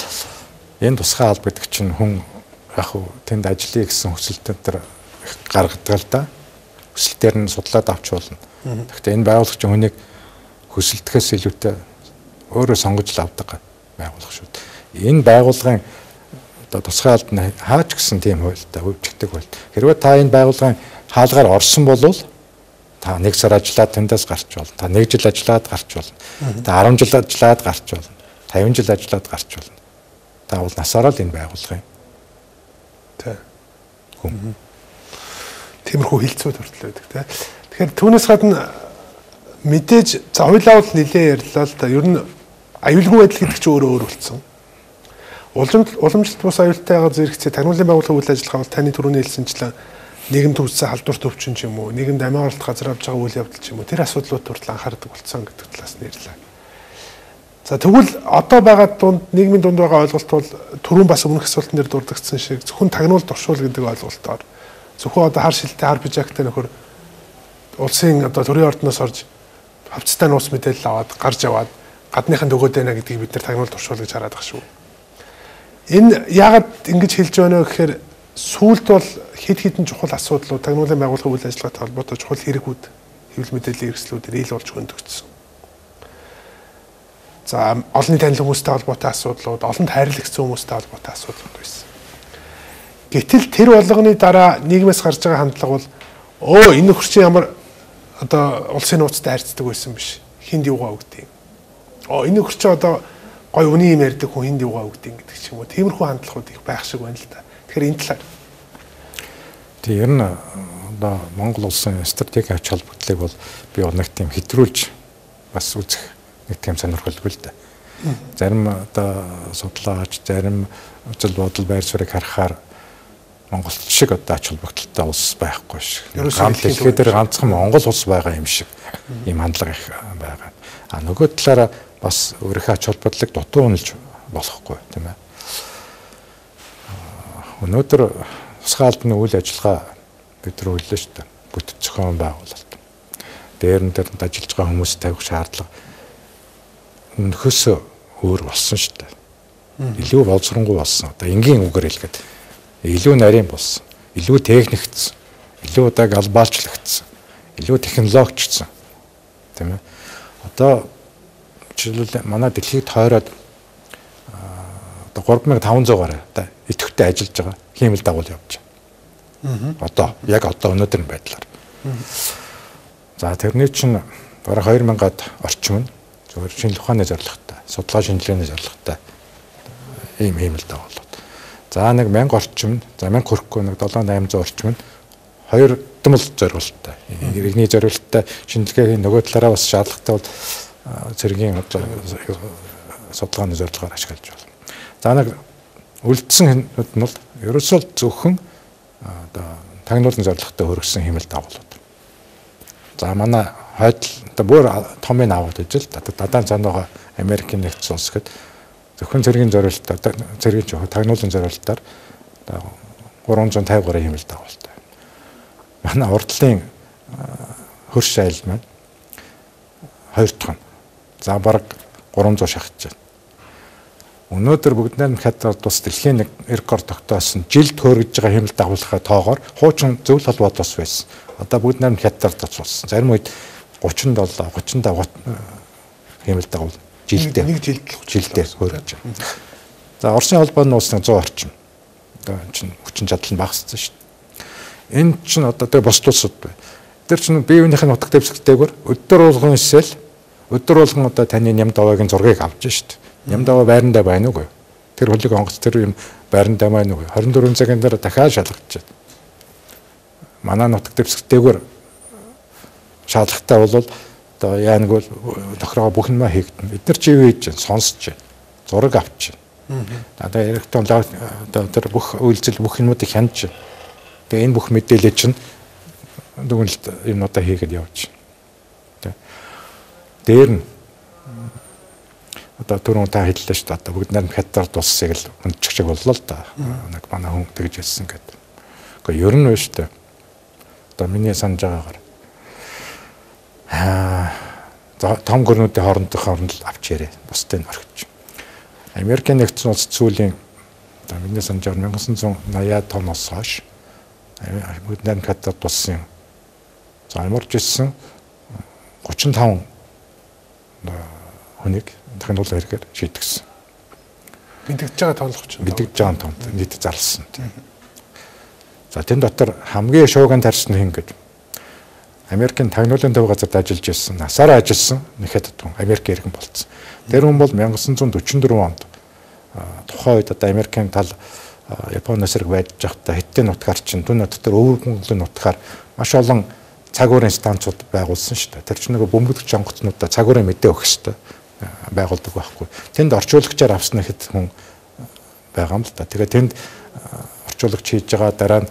S2: энэ тусгай алба гэдэг чинь хүн яг хуу тэнд ажиллая гэсэн хүсэлтээр тэр гаргадаг л да. Хүсэлтээр нь судлаад авч болно. Гэхдээ энэ байгууллага чинь хүнийг хүсэлтгээс илүүтэй өөрөө сонгож л авдаг байгууллага шүү дээ. Энэ байгууллагын одоо тусгай албаны хаач гэсэн тийм хуультай өвчтөг хууль. Хэрвээ та энэ байгууллагын хаалгаар орсон бол та 1 сар ажиллаад тэндээс гарч болно. Та 1 жил ажиллаад гарч болно. Та 10 жил ажиллаад гарч болно. 50 жил ажиллаад гарч болно. Та бол насаараа л энэ байгууллагын хүн.
S1: Тиймэрхүү хилцүүд хүртэл байдаг тий. Тэгэхээр түүнээс гадна мэдээж за хоёлаа бол нэлээ ярьлаа л да. Ер нь аюулгүй байдал гэдэг чинь өөрөө өөр болсон. Уламжлалт бус аюултайгаа зэрэгцээ таниулын байгууллагын үйл ажиллагаа бол таны түрүүний хэлсэнчлэн нийгэмд үүссэн халдвар төвчин ч юм уу, нийгэмд амиа оролт газар авч байгаа үйл явдал ч юм уу, тэр асуудлууд хүртэл анхаардаг болсон гэдэг талаас нь ярьлаа. За тэгвэл одоо байгаа дунд нийгмийн дунд байгаа ойлголт бол түрүүн бас өмнөх асуултан дээр дурдгдсан шиг зөвхөн тагнуул туршуул гэдэг ойлголтоор зөвхөн одоо хар шилтэй хар бижаагтай нөхөр улсын одоо төрийн ордноос орж хавцтай нууц мэдээлэл аваад гарч яваад гадныхын төгөөд байна гэдгийг бид нар тагнуул туршуул гэж хараад байгаа шүү. Энэ яагаад ингэж хэлж байна вэ гэхээр сүүлд бол хэд хэдэн чухал асуудлууд тагнуулын байгууллагын үйл ажиллагаатай холбоотой чухал хэрэгүүд хэвлэл мэдээллийн хэрэгслүүдээр ил болж хөндөгдсөн. За олонний танил хүмүүстэй холбоотой асуудлууд, олонд хайрлагдсан хүмүүстэй холбоотой асуудлууд байсан. Гэтэл тэр болгоны дараа нийгмээс гарч байгаа хандлага бол энэ нөхөр чинь ямар одоо улсын нууцтай харьцдаг байсан биш. Хинд юугаа өгдөг. Энэ нөхөр чинь одоо гой үний юм ярьдаг хүн хинд юугаа өгдөг гэдэг ч юм уу. Тиймэрхүү хандлагууд их байх шиг байна л да. Тэгэхээр энэ талаар
S2: ер нь одоо Монгол улсын стратегийн ач холбогдлыг бол би нэг тийм хэтрүүлж бас үзэх нэг тийм сонирхолтой л да. Зарим одоо судлаач, зарим үзэл бодол байр суурийг харахаар Монгол шиг одоо ач холбогдолтой улс байхгүй шиг. Дэлхийд дээр ганцхан Монгол улс байгаа юм шиг ийм хандлага их байгаа. Нөгөө талаараа бас өөрийнхөө ач холбогдлыг дутуу үнэлж болохгүй тийм ээ. Өнөөдөр тусгай албаны үйл ажиллагаа бид нар үйлээ шүү дээ. Бүтэц зохион байгуулалт. Дээр нь ажиллаж байгаа хүмүүс тавих шаардлага өнөхөөс өөр болсон шүү дээ. Илүү боловсронгуй болсон. Одоо энгийн үгээр хэлгээд илүү нарийн болсон. Илүү техникцсэн. Илүү одоо глобалчлагдсан. Илүү технологичсан. Тийм ээ. Одоо жишээлбэл манай дэлхийд тойроод одоо 3500-аар одоо идэвхтэй ажиллаж байгаа хиймэл дагуул явж байна. Одоо яг одоо өнөөдрийн байдлаар. За тэрний чинь бараг 2000-ад орчим нь зөвхөн шинжлэх ухааны зорилготой, судалгаа шинжилгээний зорилготой ийм хиймэл дагуулууд. За нэг 1000 орчим, за 1000 хүрэхгүй нэг 7800 орчим нь хоёр дэмэл зорилготой. Иргэний зорилготой шинжилгээний нөгөө талаараа бас шаардлагатай бол цэргийн судалгааны зорилгоор ашиглаж байна. За нэг үлдсэн хүмүүс нь бол ерөөсөө зөвхөн одоо тагнуулын зорилготой хөргсөн хиймэл дагуулууд. За манай хойд одоо бүр томыг аваад ижил дадaan цаанаа Америкийн нэгдсэн улс гэд зөвхөн цэргийн зорилтоор цэргийн жоо тагнуулын зорилтоор 353 хиймэл дагуултай. Манай урдлын хөрш айл маань 2 дахь. За бараг 300 шахаж байна. Өнөөдөр бүгд найрамд хятад тус дэлхийн нэг рекорд тогтоосон жилд хөөргөж байгаа хиймэл дагуулгын тоогоор хуучин зөвлөл холбоотос байсан. Одоо бүгд найрамд хятад тус болсон. Зарим үед 37, 35 хиймэл дагуул жилдээ
S1: нэг
S2: жилдээ хөөргөж байна. За Оросын холбооны улс 100 орчим. Одоо чинь хүчин чадал нь багассан шүү дээ. Энэ чинь одоо тэр бос улсууд бай. Тэр чинь биеийнхээ нутаг дэвсгэртэйгээр өдөр болгон исэл өдөр болгон одоо таны ням даваагийн зургийг авч шүү дээ. Ням даваа байрандаа байна уугүй. Тэр хөлийг онгоц тэр юм байрандаа байна уугүй. 24 цагийн дараа дахиад шалгаж байна. Манай нутаг дэвсгэртэйгээр шаардлагатай бол одоо яа нэг бол тохироо бүх юм хийгдэн. Бид нар чи юу хийж байна? Сонсож байна. Зураг авч байна. Одоо яригтан одоо тэр бүх үйлдэл бүх юмнуудыг хянаж байна. Тэгээ энэ бүх мэдээлэл чинь дүгнэлт юмнуудаа хийгээд явж байна. Дээр нь одоо түрүүн та хэллээ шүү дээ. Одоо бүгд найрамд хятад улсыг л хүндчих шиг боллоо л да. Нэг манай хүн тэгж хэлсэн гэдэг. Гэхдээ ер нь биш дээ. Одоо миний санаж байгаагаар том гүрнүүдийн хоорондох авч ярэ. Бусдыг орхиж. Америкийн нэгдсэн улс сүүлийн одоо миний санаж байгаагаар 1980-аад тоноос хойш бүгд найрамд хятад улсын за ямарч ирсэн 35 хүнийг тагнуулан хэрэгээр шийдгэсэн.
S1: Бэлтгэж байгаа тоолох чинь.
S2: Бэлтгэж байгаа тонд нийт зарласан. За тэн дотор хамгийн шууган тарьсан хин гэж Америкийн тагнуулын төв газарт ажиллаж ирсэн, насаараа ажилласан нэг хятад хүн Америк иргэн болцсон. Тэр хүн бол 1944 онд тухайн үед одоо Америкийн тал Японы эсрэг байж байхдаа Хятадын нутгаар чинь түн дотор өвөр Монголын нутгаар маш олон цаг уурын станцууд байгуулсан шүү дээ. Тэр чинь нэг бөмбөлөгч онгоцнуудаа цаг уурын мэдээ өгөх хэрэгтэй байгуулдаг байхгүй. Тэнд орчуулагчаар авсан хэд хүн байгаа юм л да. Тэгээ тэнд орчуулагч хийж байгаа дараа нь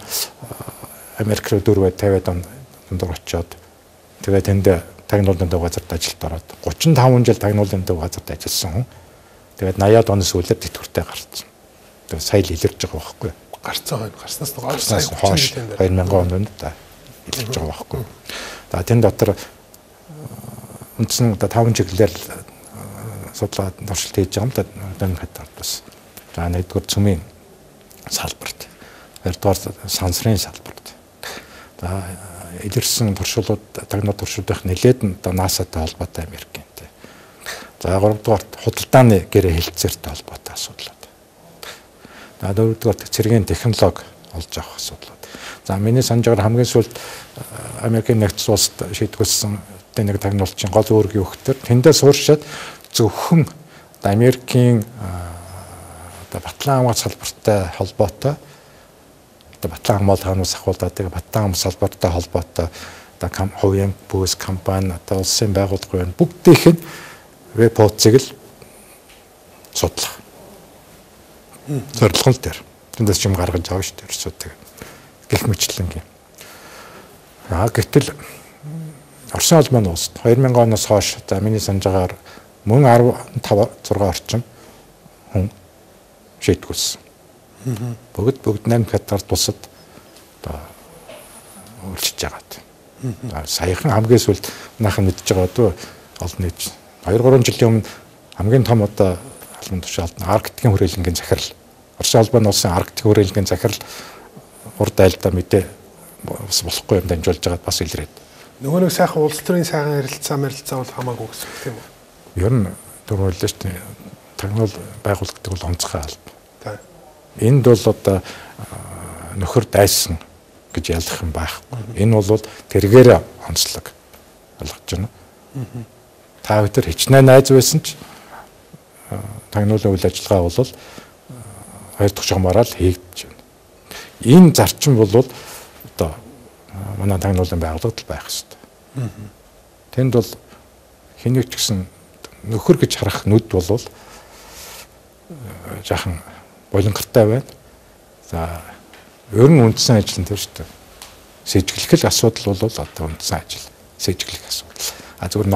S2: Америк руу 450 он дундуур очиод тэгээ тэнд тагнуулын төв газарт ажилд ороод 35 жил тагнуулын төв газарт ажилласан хүн. Тэгээд 80-аад оны сүүлээр тэтгэвртэй гарсан. Тэгээ сая л илэрж байгаа байхгүй. Гарснаас хойш 2000 онд да илэрж байгаа байхгүй. За тэн дотор үндсэн одоо 5 чиглэлээр судлаад туршилт хийж байгаа юм да энэ хатад бас. За нэгдүгээр цөмийн салбарт, хоёрдугаар сансрын салбарт. За илэрсэн туршилтууд тагнуулын туршилтын нэлээд нь одоо НАСА-тай холбоотой Америктэй. За гуравдугаар худалдааны гэрээ хэлцээртэй холбоотой асуудлууд. За дөрөвдүгээр цэргийн технологи олж авах асуудлууд. За миний санаж байгаагаар хамгийн сүүлд Америкийн нэгдсэн улсад шийдвэрлсэн нэг тагнуулчин гол үүрэг юу гэхээр тэндээ сууршаад зөвхөн Америкийн одоо батлан хамгаалалт салбартай холбоотой одоо батлан хамгаалалт хаанаас ахуулаад тэгээ батлан хамгаалалт салбартай холбоотой одоо хувийн бүс компани одоо улсын байгууллагын бүгдийнх нь веб хуудсыг л судлах. Зорилго нь дээр. Тэндээс ч юм гаргаж авах шүү дээ. Ерөөсөө гэх мэтлэнгийн. Гэтэл Оросын холбооны улсад 2000 оноос хойш за миний санаж байгаагаар мөн 15 6 орчим хүн шийдгүүлсэн. Бүгд 8 хятад тусад одоо өөрчилж байгаа. Саяхан хамгийн сүүлд наахан мэдж байгаа дөө олон нийт 2-3 жилийн өмнө хамгийн том одоо албан тушаалд Арктикийн хүрээлэнгийн захирал Орос улбаны улсын Арктик хүрээлэнгийн захирал урд айлдаа мэдээ бас болохгүй юм дамжуулж байгаад бас илрээд.
S1: Нөгөө нэг сайхан улс төрийн сайхан ярилцаа бол хамаагүй гэсэн үг тийм үү?
S2: Ер нь дөрвөлдөө шүү дээ. Тагнуул байгуулагддаг бол онцгой алба. Энд бол одоо нөхөр дайсан гэж ялах юм байхгүй. Энэ бол тэргээр онцлог ойлгож байна. Та бүхэн хичнээн найз байсан ч тагнуулын үйл ажиллагаа бол хоёр дахь жомороо л хийгдэж байна. Энэ зарчим бол одоо манай тагнуулын байгууллагад байх хэрэгтэй. Тэнд бол хэнийг ч гэсэн нөхөр гэж харах нүд бол жаахан болонгортой байна. За ер нь үндсэн ажил нь тэр шүү дээ. Сэжиглэх асуудал бол одоо үндсэн ажил. Сэжиглэх асуудал. Зүгээр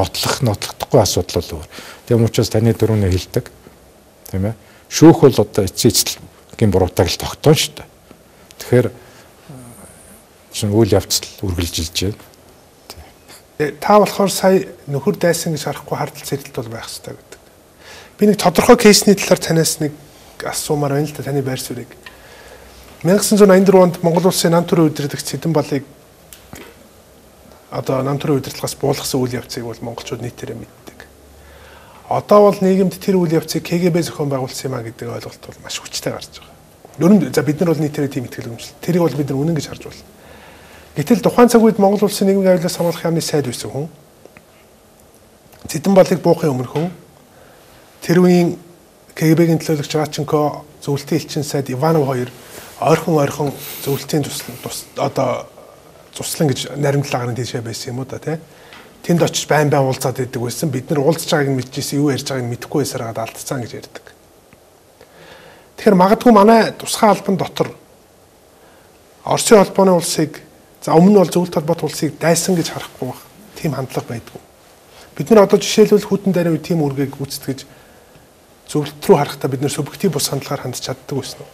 S2: нотлохдохгүй асуудал бол өөр. Тийм учраас таны дөрөвнөө хэлдэг. Тийм ээ. Шүүх бол одоо эцэцлэгийн буруутайг л тогтоон шүү дээ. Тэгэхээр чинь үйл явцал үргэлжилж байна.
S1: Та болохоор сая нөхөр дайсан гэж харахгүй хардтал цэцэлт бол байх хэрэгтэй гэдэг. Би нэг тодорхой кейсний талаар танаас нэг асуумаар байна л да таны байр суурийг. 1984 онд Монгол улсын нам төрийн удирдагч Цэдэн Балыг одоо нам төрийн удирдлагаас буулгасан үйл явцыг бол монголчууд нийтээрээ мэддэг. Одоо бол нийгэмд тэр үйл явцыг КГБ зохион байгуулсан юм а гэдэг ойлголт бол маш хүчтэй гарч байгаа. Ер нь за бид нар бол нийтээрээ тийм итгэл үнэмшил. Тэрийг бол бид нар үнэн гэж харж байна. Гэтэл тухайн цаг үед Монгол улсын нийгмийн аюулаас хамгаалах яамны сайд байсан хүн Цэдэн Балыг буухын өмнө хүн тэр үеийн КГБ-гийн төлөөлөгч Раченко зөвлөлтийн элчин сайд Иванов хоёр ойрхон зөвлөлтийн туслан гэж наримтлаагаар нь тийшээ байсан юм уу да тий. Тэнд очиж байн уулзаад идэг байсан. Бид нар уулзж байгааг нь мэдчихсэн, юу ярьж байгааг нь мэдэхгүй байсараад алдцсан гэж ярьдаг. Тэгэхээр магадгүй манай тусгай албан дотор Оросын холбооны улсыг за өмнө нь бол зөвлөлт холбоот улсыг дайсан гэж харахгүй байх. Тийм хандлага байдгүй. Бид нар одоо жишээлбэл хүйтэн дайны үе тийм үргийг гүйцэтгэж зөвлөлт рүү харахтаа бид нар субъектив бус хандлагаар хандж чаддаг байсан уу?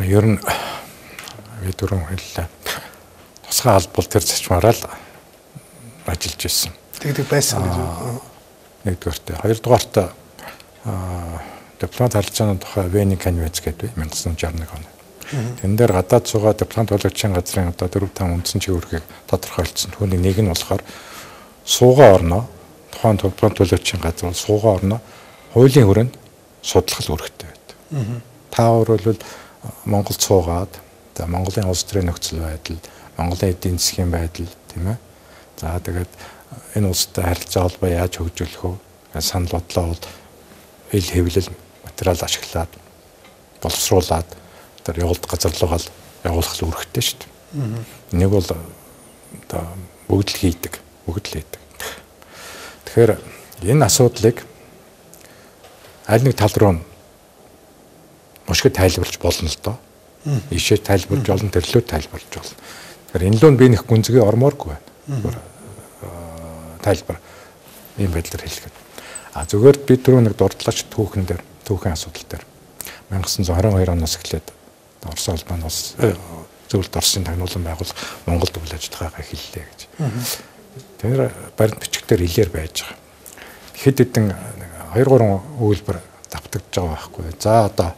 S2: Ер нь би дөрөв хэллээ. Тусгай албал тэр зачмаараа л ажиллаж ирсэн.
S1: Тэгдэг байсан гэж.
S2: Нэгдүгээрт, хоёрдугаарт дипломат харилцааны тухай Вений конвенц гэдэг 1961 он. Тэн дээр гадаад суугаа дипломат төлөөлөгчийн газрын одоо 4-5 үндсэн чиглэлийг тодорхойлцсон. Түүний нэг нь болохоор суугаа орноо тухайн дипломат төлөөлөгчийн газар бол суугаа орноо хуулийн хүрээнд судлах үүрэгтэй байдаг. Та бол Монголд суугаад Монголын улс төрийн нөхцөл байдал, Монголын эдийн засгийн байдал тийм ээ. За тэгээд энэ улстай харилцаа холбоо яаж хөгжүүлэх вэ? Санал бодлоо бол ил хэвлэл материал ашиглаад боловсруулад тэр явуулт газар руугаа явуулах үүрэгтэй шүү дээ. Нэг бол одоо бүгд л хийдэг. Тэгэхээр энэ асуудлыг аль нэг тал руу мушгид тайлбарлаж болно л доо. Ишээ тайлбарлаж болно, төрлөө тайлбарлаж болно. Тэгэхээр энэ лөө би нэг гүнзгий ормооргүй байна. Тайлбар ийм байдлаар хэлэхэд. Зүгээр би түрүү нэг дурдлагч түүхэн асуудал дээр 1922 оноос эхлээд Орос улбаны улс зөвлөлт Оросын тагнуулан байгуулах Монголд үйл ажиллагаагаа эхэллээ гэж. Тэр баримт бичгээр хэлээр байж байгаа. Хэд хэдэн 2-3 үйлбэр давтагдж байгаа байхгүй. За одоо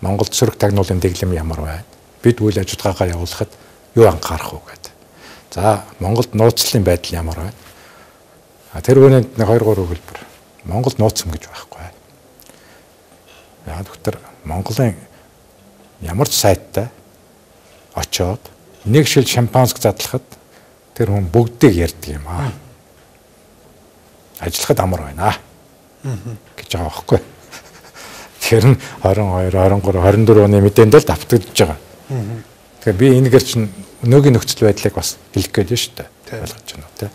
S2: Монголд сөрөг тагнуулын дэглэм ямар байна? Бид үйл ажиллагаагаа явуулахад юу анхаарах вэ гэдэг. За Монголд нууцлалын байдал ямар байна? Тэр үүнд 2-3 хэлбэр. Монголд нууцсан гэж байхгүй. Яг тэр Монголын ямар ч сайттай очоод нэг шил шампанск задлахад тэр хүн бүгдийг ярьдаг юм аа. Ажиллахад амар байна гэж байгаа байхгүй. Тэр нь 22, 23, 24 оны мэдээнд л давтагдж байгаа. Тэгэхээр би энэгээр чинь өнөөгийн нөхцөл байдлыг бас хэлэх гээд шүү дээ. Ойлгож байна уу те.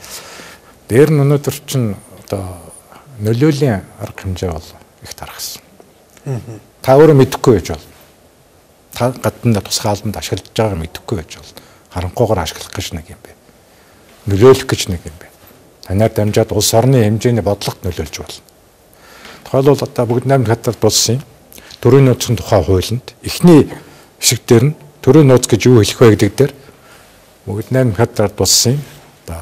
S2: Дээр нь өнөөдөр чинь одоо нөлөөлийн арга хэмжээ бол их тархсан. Та өөрөө мэдэхгүй байж бол. Та гадна тусгай албанд ашиглаж байгааг мэдэхгүй байж бол. Харанхуйгаар ашиглах гэж нэг юм бэ. Нөлөөлөх гэж нэг юм бэ. Танаар дамжаад улс орны хэмжээний бодлогот нөлөөлж болно. Тухайлбал одоо бүгд найрамд хадгалт болсон юм. Төрийн нууцын тухай хуулинд эхний хэсэг дээр нь төрийн нууц гэж юу хэлэх вэ гэдэг дээр бүгд найрамд хадгалт болсон юм. Одоо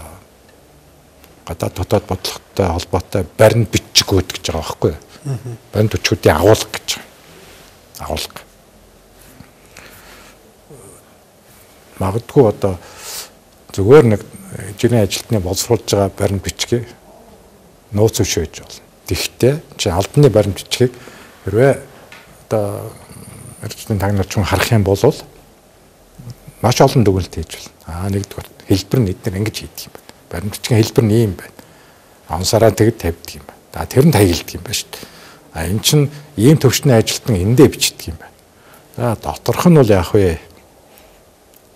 S2: гадаад дотоод бодлоготой холбоотой баримт бичгүүд гэж байгаа байхгүй юу? Баримт бичгүүдийн агуулга гэж байгаа. Агуулга. Магадгүй одоо зүгээр нэг жирийн ажилтны боловсруулж байгаа баримт бичгээ нууц өшөөж болно. Тэгэхдээ чи албаны баримт бичгийг хэрвээ одоо эрдэнэ тагнуулч харах юм бол маш олон дүгнэлт хийж болно. Нэгдүгээр хэлбэр нь эдгээр ингэж хийдэг юм байна. Баримт бичгийн хэлбэр нь ийм байна. Ансараа тэгэд тавьдаг юм байна. Тэр нь таягддаг юм байна шүү дээ. Энд чинь ийм төвчний ажилтан эндээ бичдэг юм байна. Доторх нь бол яах вэ?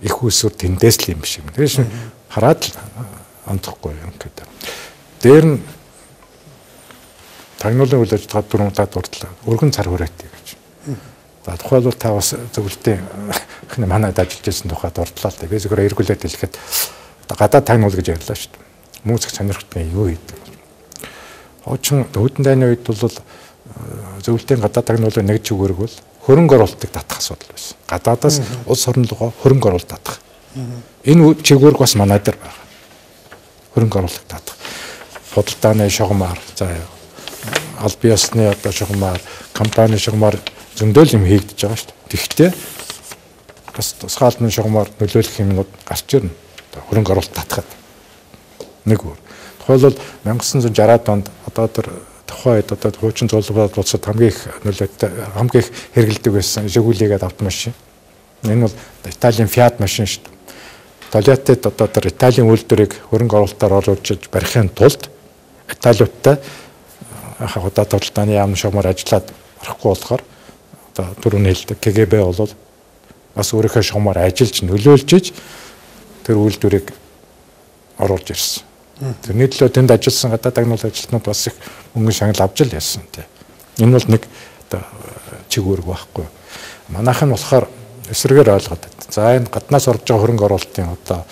S2: Их усүр тэндээс л юм биш юм. Тэгэхээр хараад л онцохгүй юм гэдэг. Дээр нь тагнуулын үйл ажиллагаа 4 удаа дурдлаа. Өргөн цар хүрээтэй гэж. За тухайлбал та бас зөвлөлтийн манайд ажиллаж байсан тухайд дурдлаа л дээ. Би зөвхөн эргүүлээд хэлэхэд гадаад тагнуул гэж ярьлаа шүү дээ. Музик сонирхтны юу хийдэг. Хуучин өвдөн дайны үед бол зөвлөлтийн гадаад тагнуулын нэг чигээр бол хөрөнгө оруулалтыг татах асуудал байсан. Гадаадаас улс орн руу хөрөнгө оруулалт татах. Энэ чигээр бас манай дээр байна. Хөрөнгө оруулалт татах. Худалдааны шугамар, за аль биесны одоо шугамар, компани шугамар зөндөл юм хийгдэж байгаа шүү дээ. Тэгэхдээ бас тусгаалны шугамар нөлөөлөх юмнууд гарч ирнэ. Хөрөнгө оруулалт татахад. Нэг өөр. Тухайлбал 1960-аад онд одоо тэр тухайд одоо хуучин золбоод улсад хамгийн их нөлөөтэй хамгийн их хэрэгэлдэг байсан Жигулигээд автомашин. Энэ бол Италийн Fiat машин шүү дээ. Толиотед одоо тэр Италийн үйлдвэрийг хөрөнгө оруулалтаар оруулж барихын тулд Италиудтай одоо худалдааны яамны шугамар ажиллаад орохгүй болохоор одоо түрүүний хэлдэг КГБ бол бас өөрийнхөө шугамар ажиллаж нөлөөлж тэр үйлдвэрийг оруулж ирсэн. Тэрний төлөө тэнд ажилласан гадаад тагнуул ажилтнууд бас их мөнгө шагнал авч л яасан тий. Энэ бол нэг одоо чигүүрэг байхгүй. Манайх нь болохоор эсрэгээр ойлгоод байна. За энэ гаднаас орж байгаа хөрөнгө оруулалтын одоо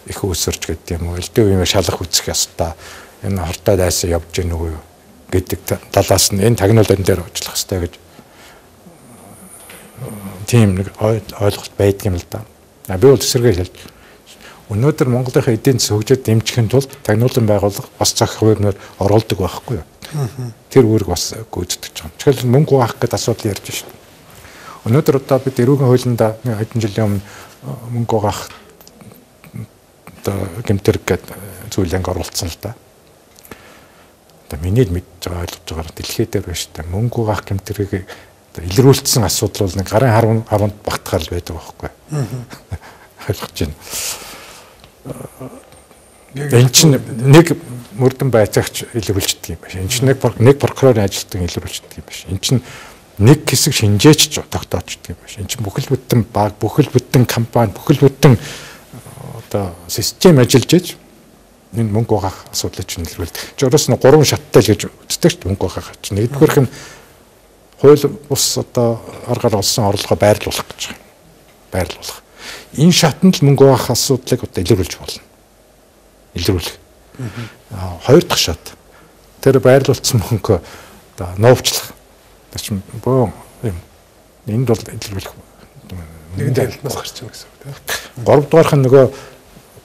S2: их өсөрч гэдэг юм уу? Элдв юм шалах үзэх ёстой. Энэ хортой дайсан явж гэнэ үгүй юу гэдэг талаас нь энэ тагнуулын дээр ажиллах ёстой гэж тийм нэг ойлголт байдаг юм л да. Би бол эсрэгээр хэлж өнөөдөр Монголынхаа эдийн засаг хөгжөөд дэмжихийн тулд тагнуулан байгууллага бас зах хуваарьнаар оруулдаг байхгүй юу? Тэр үүрэг бас гүйцэтгэж байгаа. Тэгэхээр мөнгө хуваах гэдэг асуудал ярьж байна шүү дээ. Өнөөдөр одоо бид эрүүгийн хуулиндаа хэдэн жилийн өмнө мөнгө хуваах одоо гэмтэрэг гэдэг зүйлийг оруулсан л да. Одоо миний л мэдж байгаа ойлгож байгаа дэлхийд дээр байна шүү дээ. Мөнгө хуваах гэмтэргийг илрүүлсэн асуудал бол нэг гарын харунд багтахаар л байдаг байхгүй юу? Ойлгож байна. Энэ чинь нэг мөрдөн байцаагч илрүүлждэг юм байна. Энэ чинь нэг прокурорын ажилтан илрүүлждэг юм байна. Энэ чинь нэг хэсэг шинжээч тогтоочдөг юм байна. Энэ чинь бүхэл бүтэн баг, бүхэл бүтэн компани, бүхэл бүтэн одоо систем ажиллаж иж энэ мөнгө угаах асуудлыг чинь илрүүлдэг. Жороос нь 3 шаттай л гэж үздэг ч мөнгө угаах чинь. Нэгдүгээрх нь хууль бус одоо аргаар олсон орлогоо байрлуулах гэж байна. Байрлуулах. Энэ шатанд л мөнгө угаах асуудлыг одоо илрүүлж болно. Илрүүлэх. Хоёр дахь шат. Тэр байрлуулсан мөнгө одоо новчлах. Тэр чинь бөө юм. Энд бол илрүүлэх.
S1: Нэгэн танилтнаас гарч ирнэ гэсэн үг тийм.
S2: 3 дугаарх нь нөгөө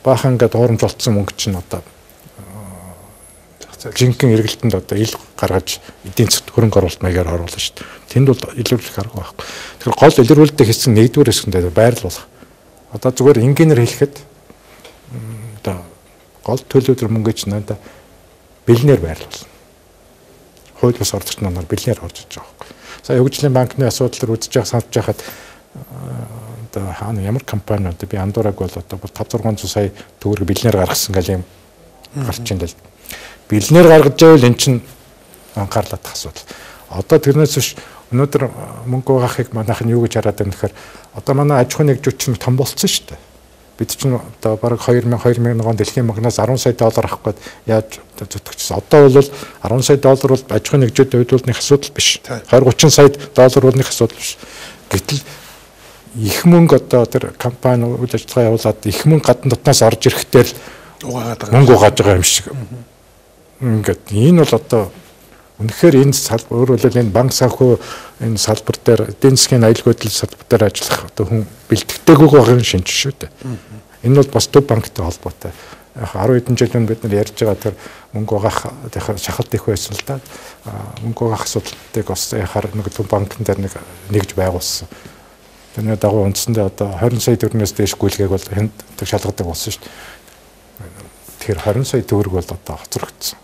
S2: баахан ингээд хуурамч болцсон мөнгө чинь одоо жинхэнэ эргэлтэнд одоо ил гаргаж эдийн засгт хөрөнгө оруулалт маягаар оруулна шүү дээ. Тэнд бол илрүүлэх арга байхгүй. Тэгэхээр гол илрүүлэлтийн хэсэг нэгдүгээр хэсгэнд байрлуулах. Одоо зүгээр энгийнээр хэлэхэд одоо гол төлөвлөлт мөнгө чинь надаа бэлнээр байрлуулна. Хууль бус ордогч нар бэлнээр орж иж байгаа байхгүй. Сая хөгжлийн банкны асуудлаар үзэж байгаа санаж байхад одоо хаана ямар компани одоо би андуураг бол одоо 5-600 сая төгрөг бэлнээр гаргасан гал юм гарч ин л бэлнээр гаргаж байвал эн чинь анхаарлаад тах асуудал. Одоо тэрнээс биш өнөөдөр мөнгө угаахыг манайх нь юу гэж хараад байна гэхээр одоо манай аж ахуйн нэгжүүд чинь том болцсон шүү дээ. Бид чинь одоо бараг 2001 он дэлхийн банкнаас 10 сая доллар авах гээд яаж зүтгэжсэн. Одоо бол 10 сая доллар бол аж ахуйн нэгжүүдийн хувьд бол нэг асуудал биш. 20-30 сая доллар бол нэг асуудал биш. Гэтэл их мөнгө одоо тэр компани үйл ажиллагаа явуулаад их мөнгө гадна дотноос орж ирэхдээ л мөнгө угааж байгаа юм шиг. Ингээд энэ бол одоо Үнэхээр энэ салбар өөрөөр энэ банк санхүү энэ салбар дээр эдийн засгийн аюулгүй хөдлөл салбар дээр ажиллах одоо хүн бэлтгэдэггүй байгаа шинж шүү дээ. Энэ бол бас төв банктай холбоотой. 10 хэдэн жил бид нар ярьж байгаа тэр мөнгө угаах шахалт их байсан л да. Мөнгө угаах асуудлыг бас яхаар нэг төв банкн дээр нэгж байгуулсан. Тэрний дагуу үндсэндээ одоо 20 сая төгрөгөөс дээш гүйлгээг бол энд шалгадаг болсон шүү дээ. Тэгэхээр 20 сая төгрөг бол одоо хоцрогдсон.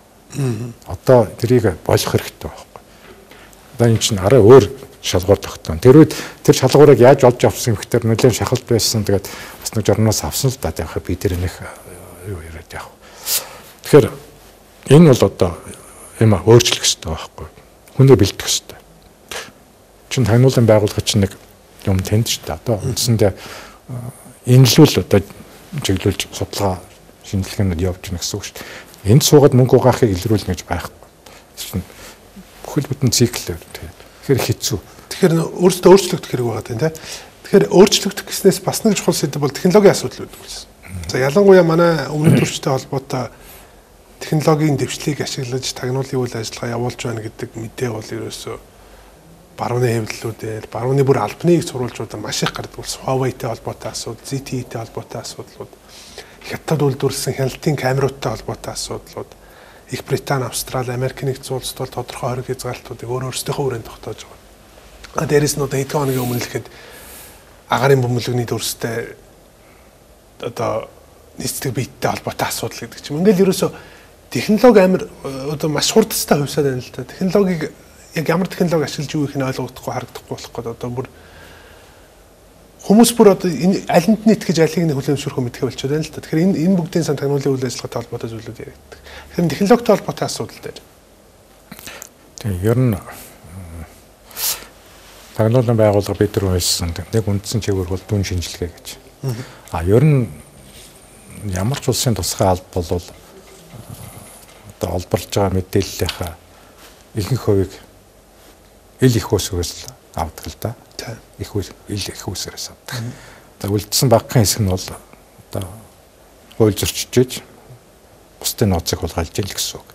S2: Одоо тэрийг болох хэрэгтэй байхгүй. Одоо энэ чинь арай өөр шалгуур тогтоно. Тэр үед тэр шалгуурыг яаж олж авсан гэхээр нэлээд шахалт байсан. Тэгээд бас нэг журнаас авсан л да. Яг би тэр нэг юу яриад яах. Тэгэхээр энэ бол одоо юм өөрчлөх хэрэгтэй байхгүй. Хүнээ бэлтгэх хэрэгтэй. Чин таниулан байгууллага чинь нэг юм тэнд ч та одоо үндсэндээ энэ л үл одоо чиглүүлж судалгаа шинжилгээнүүд явж байна гэсэн үг шүү дээ. Энд суугаад мөнгө угаахыг илрүүлнэ гэж байхгүй. Бүхэл бүтэн цикл тэгэхээр хэцүү.
S1: Тэгэхээр өөрөөсөө өөрчлөгдөх хэрэг байгаа тийм тийм. Тэгэхээр өөрчлөгдөх гэснээс бас нэг чухал сэдв бол технологийн асуудал үүдэх гэсэн. За ялангуяа манай өмнөд төрчтэй холбоотой технологийн дэвшлийг ашиглаж тагнуулын үйл ажиллагаа явуулж байна гэдэг мэдээ бол ерөөсөө барууны хэвлэлүүдээр, барууны бүр албаныг сурвалжуудаар маш их гардаг болсон. Huawei-тэй холбоотой асуудал, ZTE-тэй холбоотой асуудлууд, Хятад үйлдвэрлэсэн хяналтын камеруудтай холбоотой асуудлууд, Их Британи, Австрали, Америк нэгдсэн улсад бол тодорхой хориг хязгаарлалтуудыг өөрсдийнхөө хүрээнд тогтоож байгаа. Дээрээс нь одоо хэдэн хоногийн өмнө л ихэд агаарын бөмбөлөгний дүрстэй одоо нийцдэг биеттэй холбоотой асуудал гэдэг чинь. Ингээл ерөөсө технологи амар одоо маш хурдтай хувьсаад байна л да. Технологиг яг ямар технологи ашиглаж юу их нь ойлгохдохгүй харагдахгүй болох гээд одоо бүр хүмүүс бүр одоо энэ алинд нь итгэж алийг нь хүлээмжшүүрхөө мэдхэ болчиход байна л да. Тэгэхээр энэ бүгдийн сан тагнуулын үйл ажиллагаатай холбоотой зүйлүүд яригддаг. Тэгэхээр технологитой холбоотой асуудал дээр.
S2: Тэгээ ер нь тагнуулын байгууллага бид нар хэлсэн нэг үндсэн чиглэл бол дүн шинжилгээ гэж. Ер нь ямар ч улсын тусгай алба бол одоо олборлож байгаа мэдээллийнхаа ихэнх хувийг ил их усгээс авдаг л да. Их усгээс авдаг. Одоо үлдсэн багахан хэсэг нь бол одоо хууль зөрчиж бусдын нууцыг хулгайлж ийн л гэсэн үг.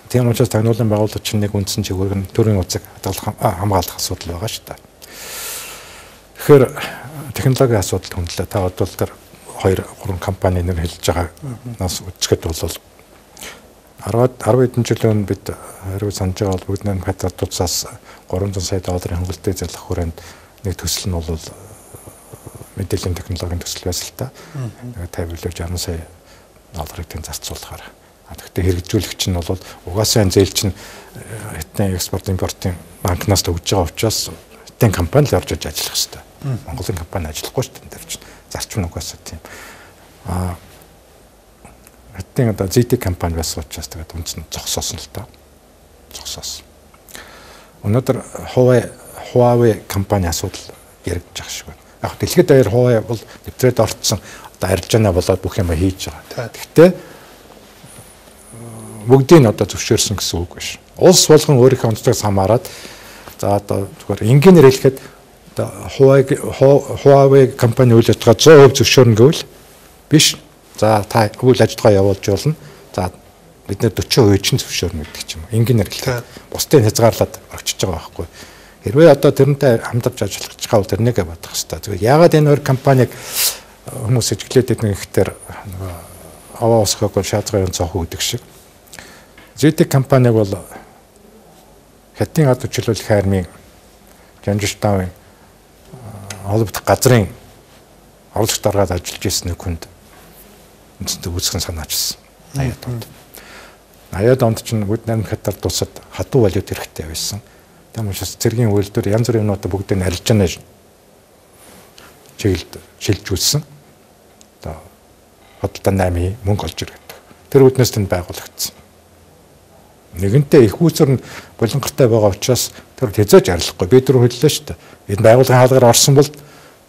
S2: Тийм учраас тагнуулын байгууллага чинь нэг үндсэн чиглэл нь төрийн нууцыг хамгаалах асуудал байгаа шүү дээ. Тэгэхээр технологийн асуудал хүндлээ. Та бодвол тэр 2-3 компани нэр хэлж байгаагаас үзэхэд бол 10 хэдэн жилийн бид хариу санаж байгаа бол бүгд нэг хатар тусаас 300 сая долларын хөнгөлөлтөд зарлах хүрээнд нэг төсөл нь бол мэдээллийн технологийн төсөл байсан л та. 50-60 сая долларыг тэн зарцуулахаар. Тэгэхдээ хэрэгжүүлэгч нь бол угаасаа энэ зээл чинь хятадын экспорт импортын банкнаас төгж байгаа учраас хятадын компани л орж иж ажиллах хэрэгтэй. Монголын компани ажиллахгүй шүү дээ. Тэр чинь зарчим угаасаа тийм. Хятадын одоо ZTE компани байсан учраас тэгээд үндсэн зогсоосон л та. Зогсоосон. Өнөөдөр Huawei компани асуудал яригдж байгаа шиг байна. Яг дэлхийд даяар Huawei бол нэвтрээд орцсон одоо арилжаанаа болоод бүх юм хийж байгаа. Гэхдээ бүгдийг одоо зөвшөөрсөн гэсэн үг биш. Улс болгон өөрийнхөө онцлогоос хамаарат за одоо зүгээр энгийнээр хэлэхэд одоо Huawei компани үйл ажиллагаа 100% зөвшөөрнө гэвэл биш. За та үйл ажиллагаа явуулж болно. За бид нэр 40% чинь зөвшөөрнө гэдэг ч юм уу. Энгийнээр хэлэхэд бусдыг хязгаарлаад орчиж байгаа байхгүй. Хэрвээ одоо тэрнтэй хамтарч ажиллах гэж хавал тэрнийг бодох хэрэгтэй. Зүгээр яагаад энэ хоёр компаниг хүмүүс эжиглээд байдаг гэхээр аваа усхаг шаардлагын цонх үүдэг шиг. ZTE компаниг бол Хятадын ад хүчилүүлэх армийн Жанжштаавын холбогдох газрын орлогч даргаад ажиллаж ирсэн хүнд үнэндээ үүсгэн санаачсан. 80-аад онд. 80-аад онд чинь бүгд 8 хятад тусад хатуу валют хэрэгтэй байсан. Тийм учраас цэргийн үйлдвэр янз бүрийн юмнуудаа бүгдийг нь арилжаанаа чиглэлд шилжүүлсэн. Одоо хөдөлთა 8 мөнгө олж ирдэг. Тэр үднээс тэнд байгуулагдсан. Нэгэнтээ их үүсвэр нь булангартай байгаа учраас тэр хязгаарч арилахгүй. Бид нар хэллээ шүү дээ. Энэ байгууллагын хаалгаар орсон бол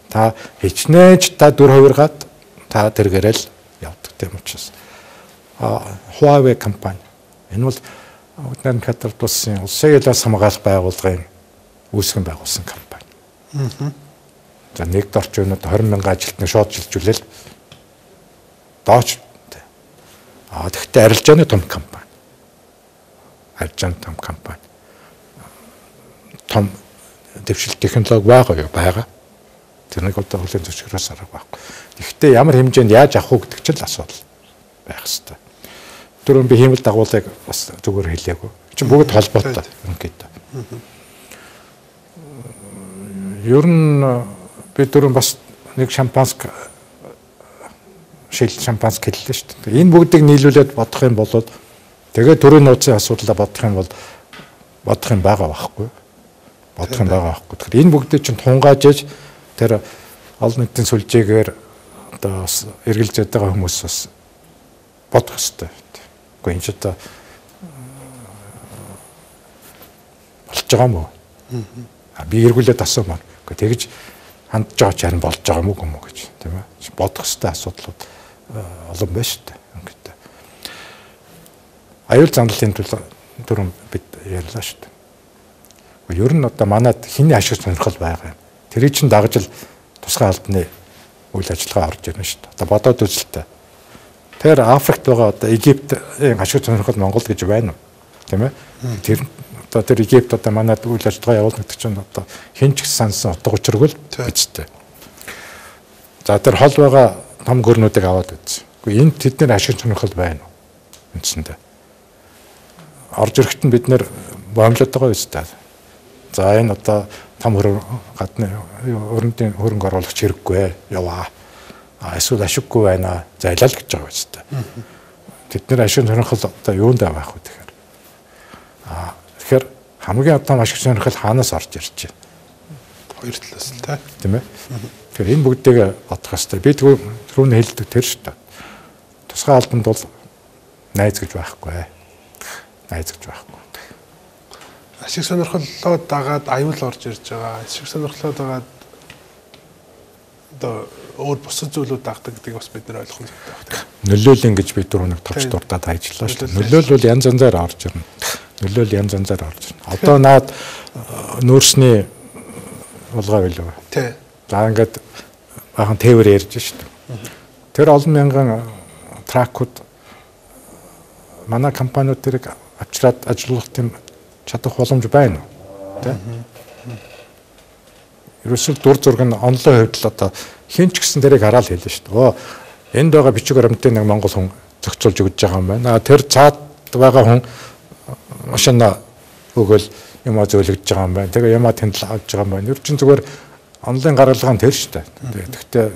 S2: та хичнээн та 4%-аад та тэргээрэл явдаг тийм учраас. Huawei компани энэ бол Уднаар Катарт улсын улсын ялаас хамгаалах байгууллагын үүсгэн байгуулсан компани. За нэгд орчин өнөд 20 мянган ажилтныг шууд шилжүүлээл дооч. Тэгэхдээ арилжааны том компани. аржаан том компани. Том дэвшил технологи байгаа. Тэрнийг одоо хүлээн зөвшөөрөөс арга байхгүй. Гэхдээ ямар хэмжээнд яаж авах уу гэдэг чинь л асуудал байх хэвээр. Түрүүн би хиймэл дагуулыг бас зүгээр хэлээгүй. Чинь бүгд холбоотой ингээд. Ер нь би түрүүн бас нэг шампанск шампанск хэллээ шүү дээ. Энэ бүгдийг нийлүүлээд бодох юм бол тэгээ төрийн нууцын асуудлаа бодох юм бол бодох юм байгаа байхгүй. Тэгэхээр энэ бүгдийг чинь тунгаажж тэр олон нийтийн сүлжээгээр одоо бас эргэлзээд байгаа хүмүүс бас бодох хэрэгтэй. Гэхдээ энэ ч одоо болж байгаа юм уу? Би эргүүлээд асуумаар. Гэхдээ тэгж хандж байгаа ч харин болж байгаа юм уу гэж тийм ээ. Бодох хэрэгтэй асуудлууд олон байна шүү дээ. Ингээд. Аюул занлалын төлөө түрүүн бид ярьлаа шүү дээ. Ер нь одоо манад хиний ашиг сонирхол байгаа юм. Тэрийг чинь дагаж л тусгай албаны үйл ажиллагаа орж ирнэ шүү дээ. Одоо бодоод үзэлтэй. Тэр Африкт байгаа одоо Египтийн ашиг сонирхол Монгол гэж байна уу? Тийм ээ. Тэр Египт одоо манад үйл ажиллагаа явуулдаг чинь одоо хэн ч сансан утга учиргүй л бичтэй. За тэр хол байгаа том гөрнүүдийг аваад үзсэн. Гэхдээ энд тэдний ашиг сонирхол байна уу? Үндсэндээ. Орж ирэхэд нь бид нэр боомлоод байгаа үстэй. За энэ одоо том гадны өрөндийн хөрөнгө оруулагч хэрэггүй яваа. Эсвэл ашиггүй байна. Зайлал гэж байгаа үстэй. Тэдний ашиг сонирхол одоо юунд байх вэ тэгэхээр? Тэгэхээр хамгийн том ашиг сонирхол хаанаас орж ирж байна? Хоёр талаас л тийм ээ. Тэгэхээр энэ бүгдийг бодох хэрэгтэй. Би түрүүн хэлдэг тэр шүү дээ. Тусгай албанд бол найз гэж байхгүй. Ашиг сонирхлоо дагаад аюул орж ирж байгаа. Ашиг сонирхлоо дагаад одоо өөр бусад зүйлүүд дагдаг гэдгийг бас бид нэр ойлгох хэрэгтэй байна. Нөлөөлөл ингэж би түрүү нэг товч дурдаад ажиллаа шүү дээ. Нөлөөлөл бол янз янзаар орж ирнэ. Одоо наад нүүрсний улгаа билүү. Тий. За ингээд бахан тээвэр ярьж шүү дээ. Тэр олон мянган тракууд манай компаниуд тэрийг авчираад ажиллах тийм чадах боломж байна уу? Тэ? Ерөөсөө дур зураг нь онлайн хувьд л одоо хэн ч гэсэн тэрийг хараад хэлнэ шүү дээ. Энд байгаа бичиг баримтын нэг монгол хүн зохицуулж өгч байгаа юм байна. Тэр цаад байгаа хүн машина өгөөл юм зөөлөгдөж байгаа юм байна. Тэгээ ямаа тэнд л авч байгаа юм байна. Ер чинь зүгээр онлайн гаргалгаа нь тэр шүү дээ. Тэгэхдээ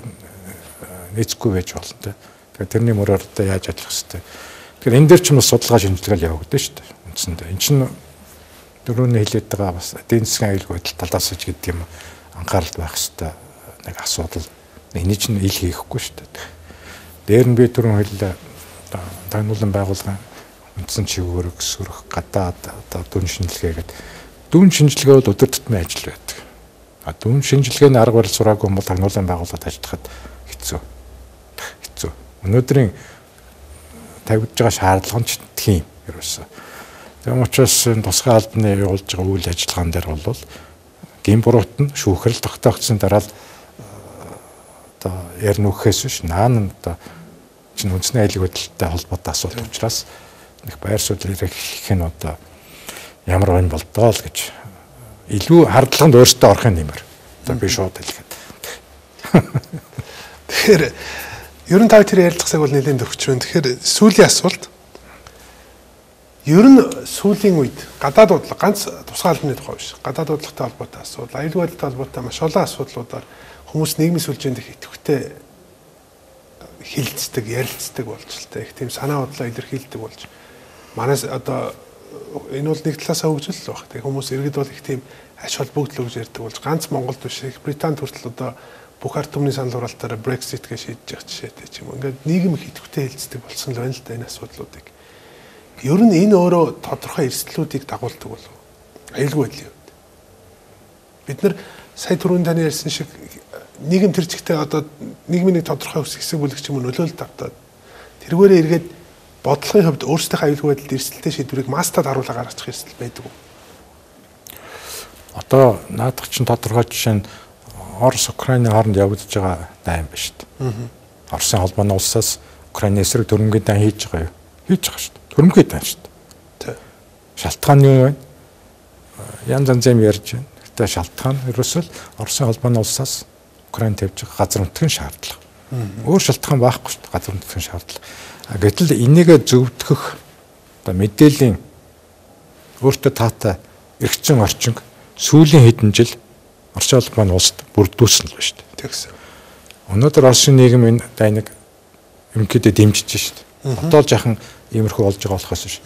S2: нийцэхгүй байж болно тэ. Тэгээ тэрний мөрөөр одоо яаж ажиллах хэвтэй. Тэгэхээр энэ дээр ч бас судалгаа шинжилгээ явагдана шүү дээ. Үндсэндээ энэ чинь дөрөвний хэлээд байгаа бас эдийн засгийн аюулгүй байдал талаас ч гэдэг юм анхаарал байх хэвтэй нэг асуудал. Энийг чинь ил хийхгүй шүү дээ. Дээр нь би түрүүн хэллээ таниулан байгуулгын үндсэн чиглэлээр өсөрөх гадаад одоо дүн шинжилгээ гэдэг. Дүн шинжилгээ бол өдөр тутмын ажил байдаг. Дүн шинжилгээний арга барил сураагүй юм бол таниулан байгууллагад ажиллахад хэцүү. Өнөөдрийн тавьж байгаа шаардлага нь тийм ерөөсөө. Тэгм учраас тусгай албаны явуулж байгаа үйл ажиллагаан дээр бол гин буруут нь шүүхрэл тогтоогдсон дараа л одоо ярь нүхэс биш наан одоо чинь үндэсний аюулгүй байдалтай холбоотой асуудал учраас их байр суурь ирэх нь одоо ямар байна болдоо л гэж илүү хардлаганд өөртөө орохын нэмэр. Одоо би шууд хэлэхэд. Тэгэхээр ер нь та тэр ярилцлагыг бол нэлээд төгсч байна. Тэгэхээр сүүлийн асуулт ер нь сүүлийн үед гадаад бодлого ганц тусгай албаны тухай биш. Гадаад бодлоготой холбоотой асуудал, аюулгүй байдалтай холбоотой маш олон асуудлуудаар хүмүүс нийгмийн сүлжээнд их идэвхтэй хилцдэг, ярилцдаг болж л та их тийм санаа бодлоо илэрхийлдэг болж. Манайс одоо энэ бол нэг талаасаа хөгжил л баг. Тэгээ хүмүүс иргэд бол их тийм ач холбогдол гэж ярьдаг болж ганц Монголд биш их Британд хүртэл одоо бүх ард түмний санал хураалтаараа Brexit гэж шийдэж байгаа жишээтэй ч юм. Ингээд нийгэм их идэвхтэй хилцдэг болсон л байна л да энэ асуудлуудыг. Ер нь энэ өөрөө тодорхой эрсдлүүдийг дагуулдаг болов. Аюулгүй байдлын үед. Бид нар сая түрүүн таны ярьсан шиг нийгэм тэр чигтээ одоо нийгмийн нэг тодорхой хэсэг бүлэг ч юм уу нөлөөлөлт автаад тэргээрээ эргээд бодлогын хувьд өөрсдийнхөө аюулгүй байдалд эрсдэлтэй шийдвэрийг мастад харуулга гаргачих эрсдэл байдаг уу? Одоо наадах чинь тодорхой жишээ нь Орос Украины хооронд явагдаж байгаа дайм ба шүү дээ. Оросын холбооны улсаас Украины эсрэг төрөмгийн дан хийж байгаа юу? Хийж байгаа шүү дээ. Төрөмгийн дан шүү дээ. Шалтгаан юу вэ? Янз янзын ярьж байна. Гэтэ шалтгаан ерөөсөө Оросын холбооны улсаас Украин тавьж байгаа газар нутгийн шаардлага. Өөр шалтгаан байхгүй шүү дээ. Газар нутгийн шаардлага. Гэтэл энийг зөвтгөх одоо мэдээллийн өөртөө таатай эргэцэн орчинг сүүлийн хэдэн жил Оросын холбооны улсад бүрдүүлсэн л байна шүү дээ.
S1: Тэгсэн.
S2: Өнөөдөр Оросын нийгэм энэ дайныг ерөнхийдөө дэмжиж шүү дээ. Хотоол жахан иймэрхүү болж байгаа болохоос шүү.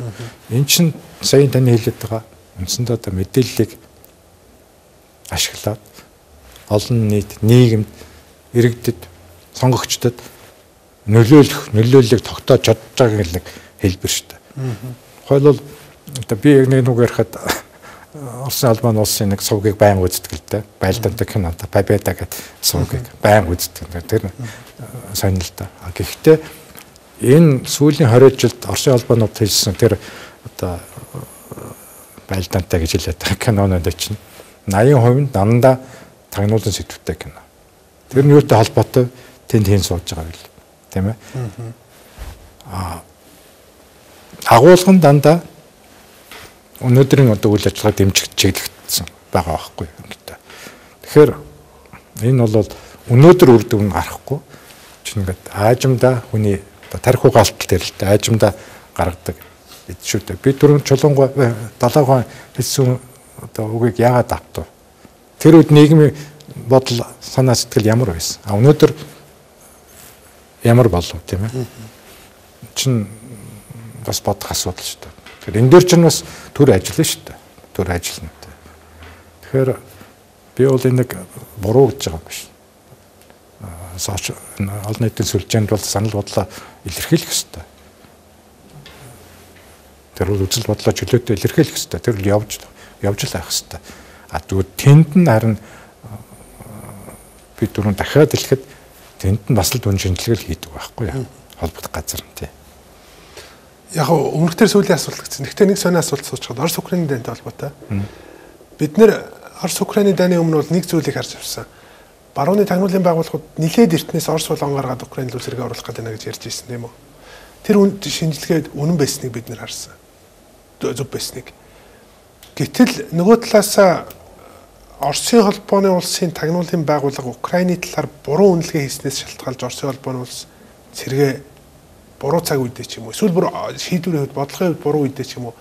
S2: Энэ чинь сая таны хэлээд байгаа үндсэндээ одоо мэдээллийг ашиглаад олон нийт нийгэмд иргэдэд сонгогчдод нөлөөллийг тогтоож чадж байгааг нэг хэлбэр шүү дээ. Хойлол одоо би яг нэг ярихад Оросын холбооны улсын нэг сувгийг байн үздэг л дээ. Байлдаантай кинотой Победа гэдэг сувгийг байн үздэг. Тэр сонир л да. Гэхдээ энэ сүүлийн 20 жилд Оросын холбоонууд хийсэн тэр одоо байлдаантай гэж хэлээд байгаа кинонууд чинь 80% нь дандаа тагнуулын сэдвүүтэй кино. Тэр нь юутай холбоотой тэнд хийн сууж байгаа юм. Тийм ээ. Агуулгын дандаа өнөөдрийн одоо үйл ажиллагаа дэмжих чиглэгдсэн байгаа байхгүй юм гэдэг. Тэгэхээр энэ бол өнөөдөр үр дүн гарахгүй чинь ингээд аажимда хүний тарих угаалтал дээр л дээ аажимда гаргадаг шүү дээ. Би түрүүн чулуунгой 70% хэлсэн одоо үгийг яагаад автав? Тэр үед нийгмийн бодол санаа сэтгэл ямар байсан? Өнөөдөр ямар болов тийм ээ? Чин бас бодох асуудал шүү дээ. Тэгэхээр энэ дээр чинь бас төр ажиллана шүү дээ. Төр ажиллана. Тэгэхээр би бол энийг буруу гэж байгаа юм биш. Олон нийтийн сүлжээнд бол санал бодлоо илэрхийлэх ёстой. Тэр бол үзэл бодлоо чөлөөтэй илэрхийлэх ёстой. Тэр л явж л байх ёстой. Тэгвэл тэнд нь харин би түрүүн дахиад хэлэхэд тэнд нь бас л дүн шинжилгээ хийдэг байхгүй юу? Холбогдох газар нь тий.
S1: Яг өмнөхдөр сүүлийн асуулт гэсэн. Гэхдээ нэг сони асуулт суучихад Орос Украины дайнтай холбоотой. Бид нэр Орос Украины дайны өмнө бол нэг зүйлийг харж авсан. Барууны тагнуулын байгууллагууд нилээд эртнээс Орос болон гаргаад Украин руу сэргээ оруулах гэдэг нэг ярьж ирсэн тийм үү? Тэр шинжилгээд үнэн байсныг бид нэр харсан. Зөв байсныг. Гэтэл нөгөө талаас Оросын холбооны улсын тагнуулын байгууллага Украины талаар буруу үнэлгээ хийснээс шалтгаалж Оросын холбооны улс сэргээ буруу цаг үедээ ч юм уу эсвэл бүр шийдвэрийн хувьд бодлогын хувьд буруу үедээ ч юм уу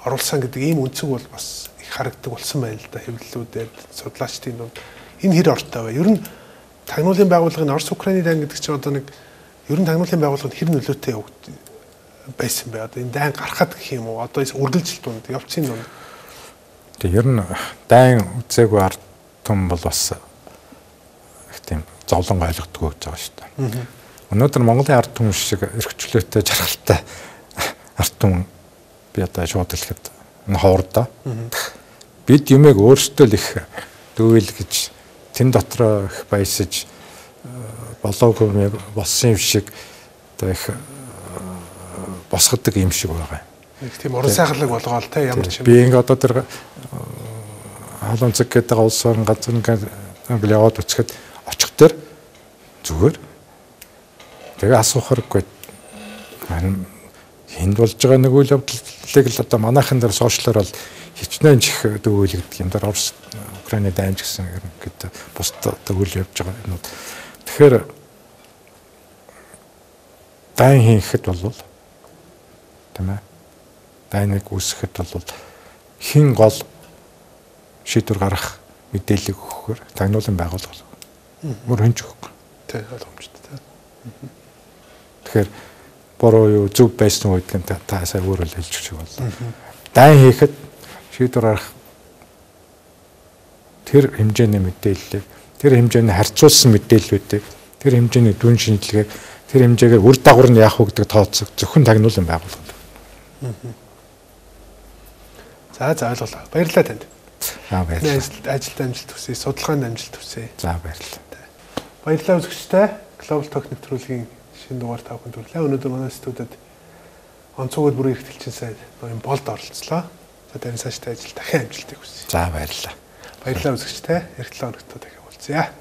S1: оруулсан гэдэг ийм үнцэг бол бас их харагддаг болсон байна л да хэвлэлүүдэд судлаачдын дунд энэ хэр ортой вэ? Ер нь тагнуулын байгууллагын Орос Украины дайн гэдэг чинь одоо нэг ер нь тагнуулын байгууллагын хэр нөлөөтэй байсан бэ? Одоо энэ дайн гарахад гэх юм уу? Одоо үргэлжил дунд явцын дунд.
S2: Тэгээ ер нь дайн үзээгүй ард том бол бас их тийм зовлон ойлгодгоо гэж байгаа шүү дээ. Өнөөдөр Монголын ард түмэн шиг эрхчлөөтэй жаргалтай ард түмэн би одоо шууд хэлэхэд энэ хоордоо бид юмэг өөрсдөө л их дүүл гэж тэн дотроо их баясаж болоогүй болсон юм шиг одоо их босгодог юм шиг байгаа юм.
S1: Нэг тийм уран сайхлаг болгоол те ямар ч юм.
S2: Би ингээ одоо тэр халуун цэг гэдэг улс орон газар ингээ яваад үцхэд очих тэр зүгээр тэгээ асуухаргүй харин энд болж байгаа нэг үйл явдлыг л одоо манайхан дээр сошиалор бол хичнээн чих дүүл гэдэг юм дээр Орос Украины дайнч гэсэн гэдэг бусд одоо үйл явж байгаа юм. Тэгэхээр дайн хийхэд бол тийм ээ дайныг үүсгэхэд бол хин гол шийдвэр гаргах мэдээлэл өгөхөөр тагнуулан байгуулга мөр хөнж өгөх.
S1: Тэ ойлгомжтой.
S2: Тэгэхээр буруу юу зөв байсан үедээ та сая өөрөө хэлж өгч байна. Дайн хийхэд шийдвэр гаргах тэр хэмжээний мэдээллийг тэр хэмжээний харьцуулсан мэдээллүүдийг тэр хэмжээний дүн шинжилгээг тэр хэмжээгээр үр дагавар нь яах вэ гэдэг тооцох зөвхөн тагнуулан байгуулга.
S1: За ойлголоо. Баярлалаа танд.
S2: За баярлалаа.
S1: Ажилд амжилт хүсье, судалгаанд амжилт хүсье.
S2: За баярлалаа.
S1: Баярлалаа үзэгчтэй. Global Talk нэвтрүүлгийн шинэ дугаар та бүхэнд хүргэлээ. Өнөөдөр манай студид онцгойд бүрийн эрхтэлчин сайд ноён болд оролцлоо. За тань цаашдаа ажил дахин амжилтыг хүсье.
S2: За баярлалаа.
S1: Баярлалаа үзэгчтэй. Эх 7 хоногт дахин уулзъя.